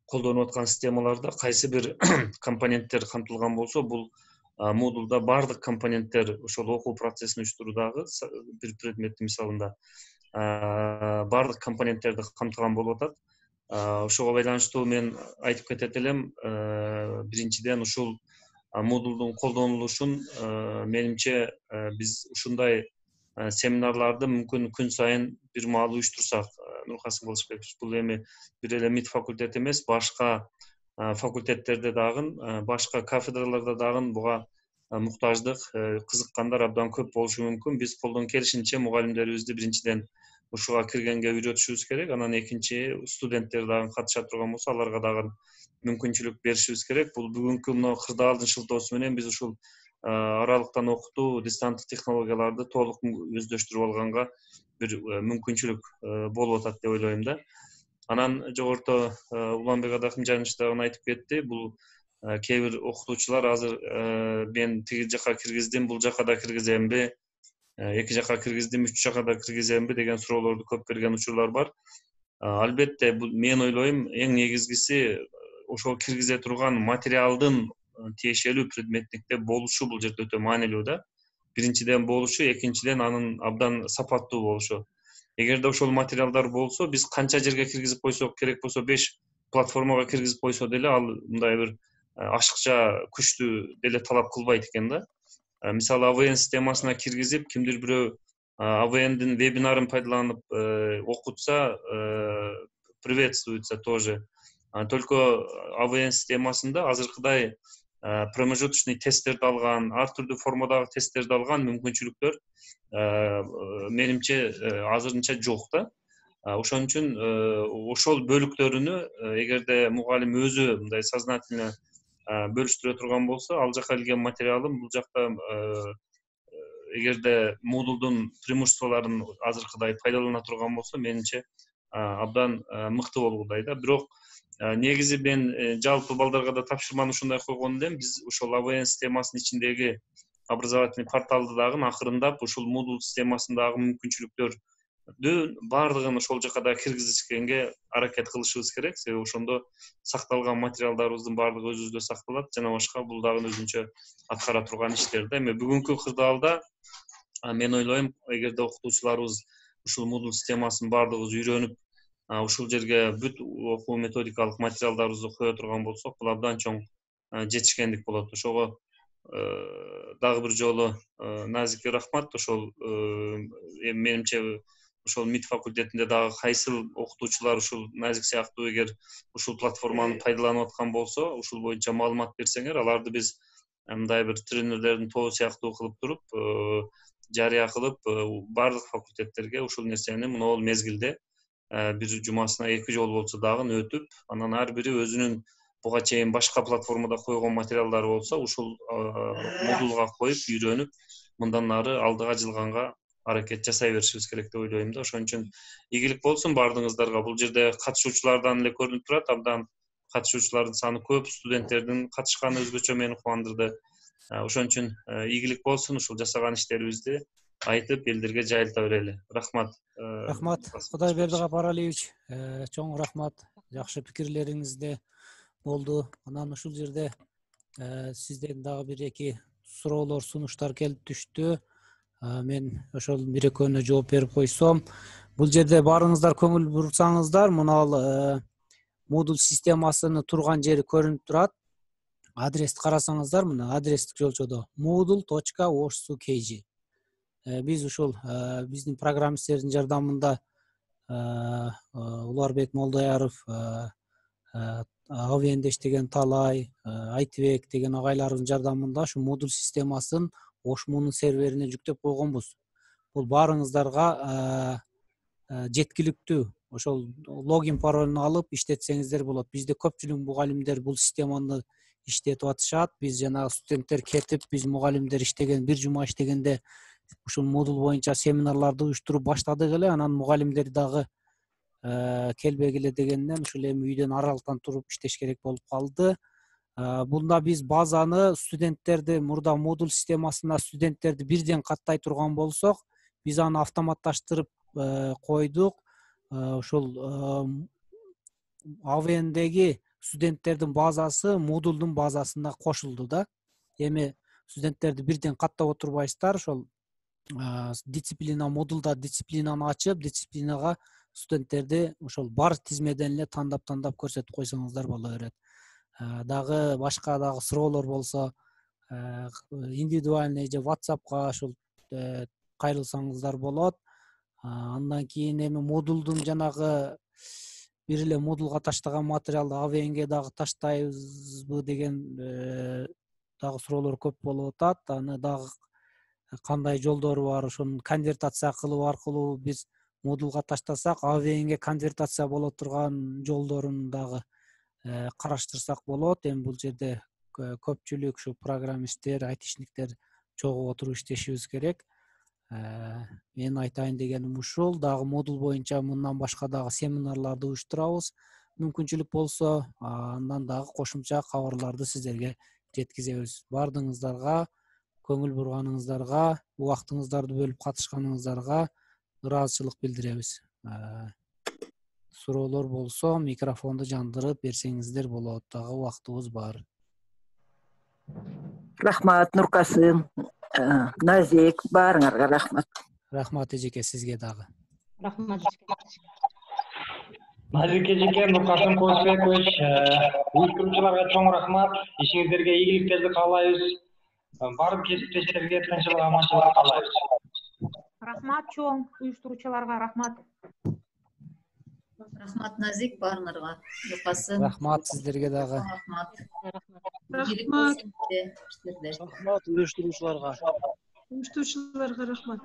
Speaker 15: колдонуп аткан системаларда кайсы бир компоненттер камтылган болсо, бул Moodle'да бардык компоненттер ошол окуу процессин уюштуруудагы бир предметтин мисалында бардык компоненттерди камтыган болуп атат. Ошого байланыштуу мен айтып кетет элем, биринчиден ушул Moodle'дун колдонулушун менимче биз ушундай семинарларды мүмкүн күн сайын бир маал уюштурсак, Нуркасым Кылычбекович, бул эми бир эле МИД факультети эмес, башка факультеттерде дагы, башка кафедраларда дагы буга муктаждык, кызыккандар абдан көп болушу мүмкүн. Биз колдон келишинче мугалимдерибизди биринчиден ушуга киргенге үйрөтүшүбүз керек. Анан экинчи, студенттер дагы катыша турган болсо, аларга дагы мүмкүнчүлүк беришибиз керек. Бул бүгүнкү мына кырдаалдын шылтоосу менен биз ушул аралыктан окутуу, дистанттык технологияларды толук өздөштүрүп алганга бир мүмкүнчүлүк болуп атат деп ойлойм да. Анан жогоруда Уланбек Адахымжанович дагы айтып кетти. Бул кээ бир окутуучулар азыр мен тиги жака киргиздим, бул жака да киргиземби, эки жака киргиздим, үч жака да киргиземби деген суроолорду көп берген учурлар бар. Албетте, мен ойлойм, эң негизгиси ошол киргизе турган материалдын тиешелүү предметникте болушу бул жерде өтө маанилүү да. Биринчиден болушу, экинчиден анын абдан сапаттуу болушу. Эгерде ошол материалдар болсо, биз канча жерге киргизип койсок, керек болсо 5 платформага киргизип койсо деле, ал мындай бир ашыкча күчтүү деле талап кылбайт экен да. Мисалы, AVN системасына киргизип, кимдир бирөө AVN'дин вебинарын пайдаланып окутса, приветствуется тоже. Только AVN системасында азыркыдай промежуточный тесттерди алган, ар түрдүү формадагы тесттерди алган мүмкүнчүлүктөр менимче азырынча жок да. Ошон үчүн ошол бөлүктөрүнү эгерде мугалим өзү мындай сознательно бөлүштүрө турган болсо, ал жака келген материалын бул жакта эгерде Moodle'дун преимуществолорун азыркыдай пайдалана турган болсо, менимче абдан мыкты болгудай да. Бирок негизи мен жалпы балдарга да тапшырманы ушундай койгон элем. Биз ошол AVN системасынын ичиндеги образовательный порталды дагы акырындап ушул Moodle системасындагы мүмкүнчүлүктөрдү бардыгын ошол жака да киргизишкенге аракет кылышыбыз керек. Себеби ошондо сакталган материалдарыбыздын бардыгы өзүбүздө сакталат, жана башка бул дагы өзүнчө аткара турган иштер да. Эми бүгүнкү кырдаалда мен ойлойм, эгерде окутуучуларыбыз ушул Moodle системасын бардыгыбыз үйрөнүп, ушул жерге бүт окуу методикалык материалдарыбызды кое турган болсок, бул абдан чоң жетишкендик болот. Ошого дагы бир жолу назикке рахмат. Ошол менимче ошол МИД факультетинде дагы кайсыл окутуучулар ушул назик сыяктуу эгер ушул платформаны пайдаланып аткан болсо, ушул боюнча маалымат берсеңер, аларды биз мындай бир тренерлердин тобу сыяктуу кылып туруп, жарыя кылып, бардык факультеттерге ушул нерсени могул мезгилде бир жумасына 2 жолу болсо дагы өтүп, анан ар бири өзүнүн буга чейин башка платформада койгон материалдары болсо, ушул Moodle'га коюп, үйрөнүп, мындан ары алдыга жылганга аракет жасай беришибиз керек деп ойлойм да. Ошон үчүн ийгилик болсун бардыгыңыздарга. Бул жерде катышуучулардан эле көрүнүп турат, абдан катышуучулардын саны көп, студенттердин катышканы өзгөчө мени кубандырды. Ошон үчүн ийгилик болсун, ушул жасаган иштерибизди айтып, элдерге жайылта берели. Рахмат.
Speaker 2: Рахмат, Кудайберди Гапаралиевич. Чоң рахмат. Жакшы пикирлериңизде болду. Анан ушул жерде сизден дагы бир эки суроолор, сунуштар келип түштү. Мен ошол бир экөөнө жооп берип койсом, бул жерде баарыңыздар көңүл бурсаңыздар, мына Moodle системасынын турган жери көрүнүп турат. Адрести карасаңыздар, мына адрестик жолчодо moodle.org.kg. Биз ушул биздин программисттердин жардамында Уларбек Молдаяров, AVN'де иштеген Талай, Айтбек деген агайлардын жардамында ушу Moodle системасын Ошмунун серверине жүктөп койгонбуз. Бул баарыңыздарга жеткиликтүү. Ошол логин паролун алып иштетсеңиздер болот. Бизде көпчүлүк мугалимдер бул системаны иштетип атышат. Биз жана студенттер кетип, биз мугалимдер иштеген, бир жума иштегенде ушул модуль боюнча семинарларды уюштуруп баштадык эле. Анан мугалимдер дагы келбей эле дегенден ушул эми үйдөн аралыктан туруп иштеш керек болуп калды. Бунда биз базаны студенттерди мурда модуль системасына студенттерди бирден каттай турган болсок, биз аны автоматташтырып койдук. Ушул АВНдеги студенттердин базасы модулдун базасына кошулду да. Эми студенттерди бирден каттап отурбайсыздар, ошол дисциплина модулда дисциплинаны ачып, дисциплинага студенттерди ошол бар тизмеден эле тандап көрсөтүп койсоңуздар боло берет. Дагы башка дагы суроолор болсо индивидуальный же WhatsAppка ошол кайрылсаңыздар болот. Андан кийин эми модулдун жанагы бир эле модулга таштаган материалды АВНге дагы таштайбызбы деген дагы суроолор көп болуп атат. Аны дагы кандай жолдору бар, ошону конвертация кылуу аркылуу биз модулга таштасак, АВНге конвертация боло турган жолдорун дагы караштырсак болот. Эми бул жерде көпчүлүк ушу программисттер, айтишниктер чогуу отуруп иштешибиз керек. Мен айтайын дегеним ушул. Дагы модуль боюнча мындан башка дагы семинарларды уюштурабыз. Мүмкүнчүлүк болсо, андан дагы кошумча кабарларды сиздерге жеткизебиз. Бардыгыңыздарга, көңүл бурганыңыздарга, убактыңыздарды бөлүп катышканыңыздарга ыраазычылык билдиребиз. Суроолор болсо, микрофонду жандырып берсеңиздер болот. Дагы убактыбыз бар.
Speaker 8: Рахмат, Нуркасым, Назик, баарыңарга рахмат.
Speaker 2: Рахмат эжеке, сизге дагы.
Speaker 1: Рахмат.
Speaker 16: Назик эжеке, Нуркасым Козбекович, уюштуруучуларга чоң рахмат. Ишиңиздерге ийгиликтерди каалайбыз. Бардык кесиптештерге тынччылык, аманчылык каалайбыз.
Speaker 9: Рахмат чоң уюштуруучуларга рахмат.
Speaker 7: Рахмат Назик, баарыңарга. Нуркасым.
Speaker 2: Рахмат сиздерге дагы.
Speaker 7: Рахмат.
Speaker 5: Рахмат уюштуруучуларга.
Speaker 6: Уюштуруучуларга рахмат.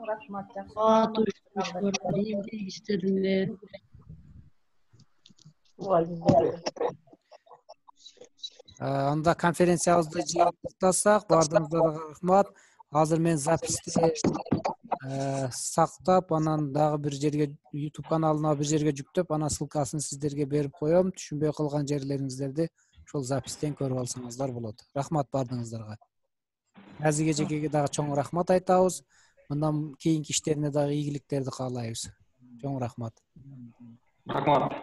Speaker 7: Рахмат.
Speaker 17: Рахмат уюштуруучуларга, иштерлер.
Speaker 2: Анда конференциябызды жыйынтыктасак, бардыгыңыздарга рахмат. Азыр мен записти сактап, анан дагы бир жерге YouTube каналына бир жерге жүктөп, анан ссылкасын сиздерге берип коем. Түшүнбөй калган жерлериңиздерди ошол запистен көрүп алсаңыздар болот. Рахмат бардыгыңыздарга. Назик эжекеге дагы чоң рахмат айтабыз. Мындан кийинки иштерине дагы ийгиликтерди каалайбыз. Чоң рахмат.
Speaker 16: Рахмат.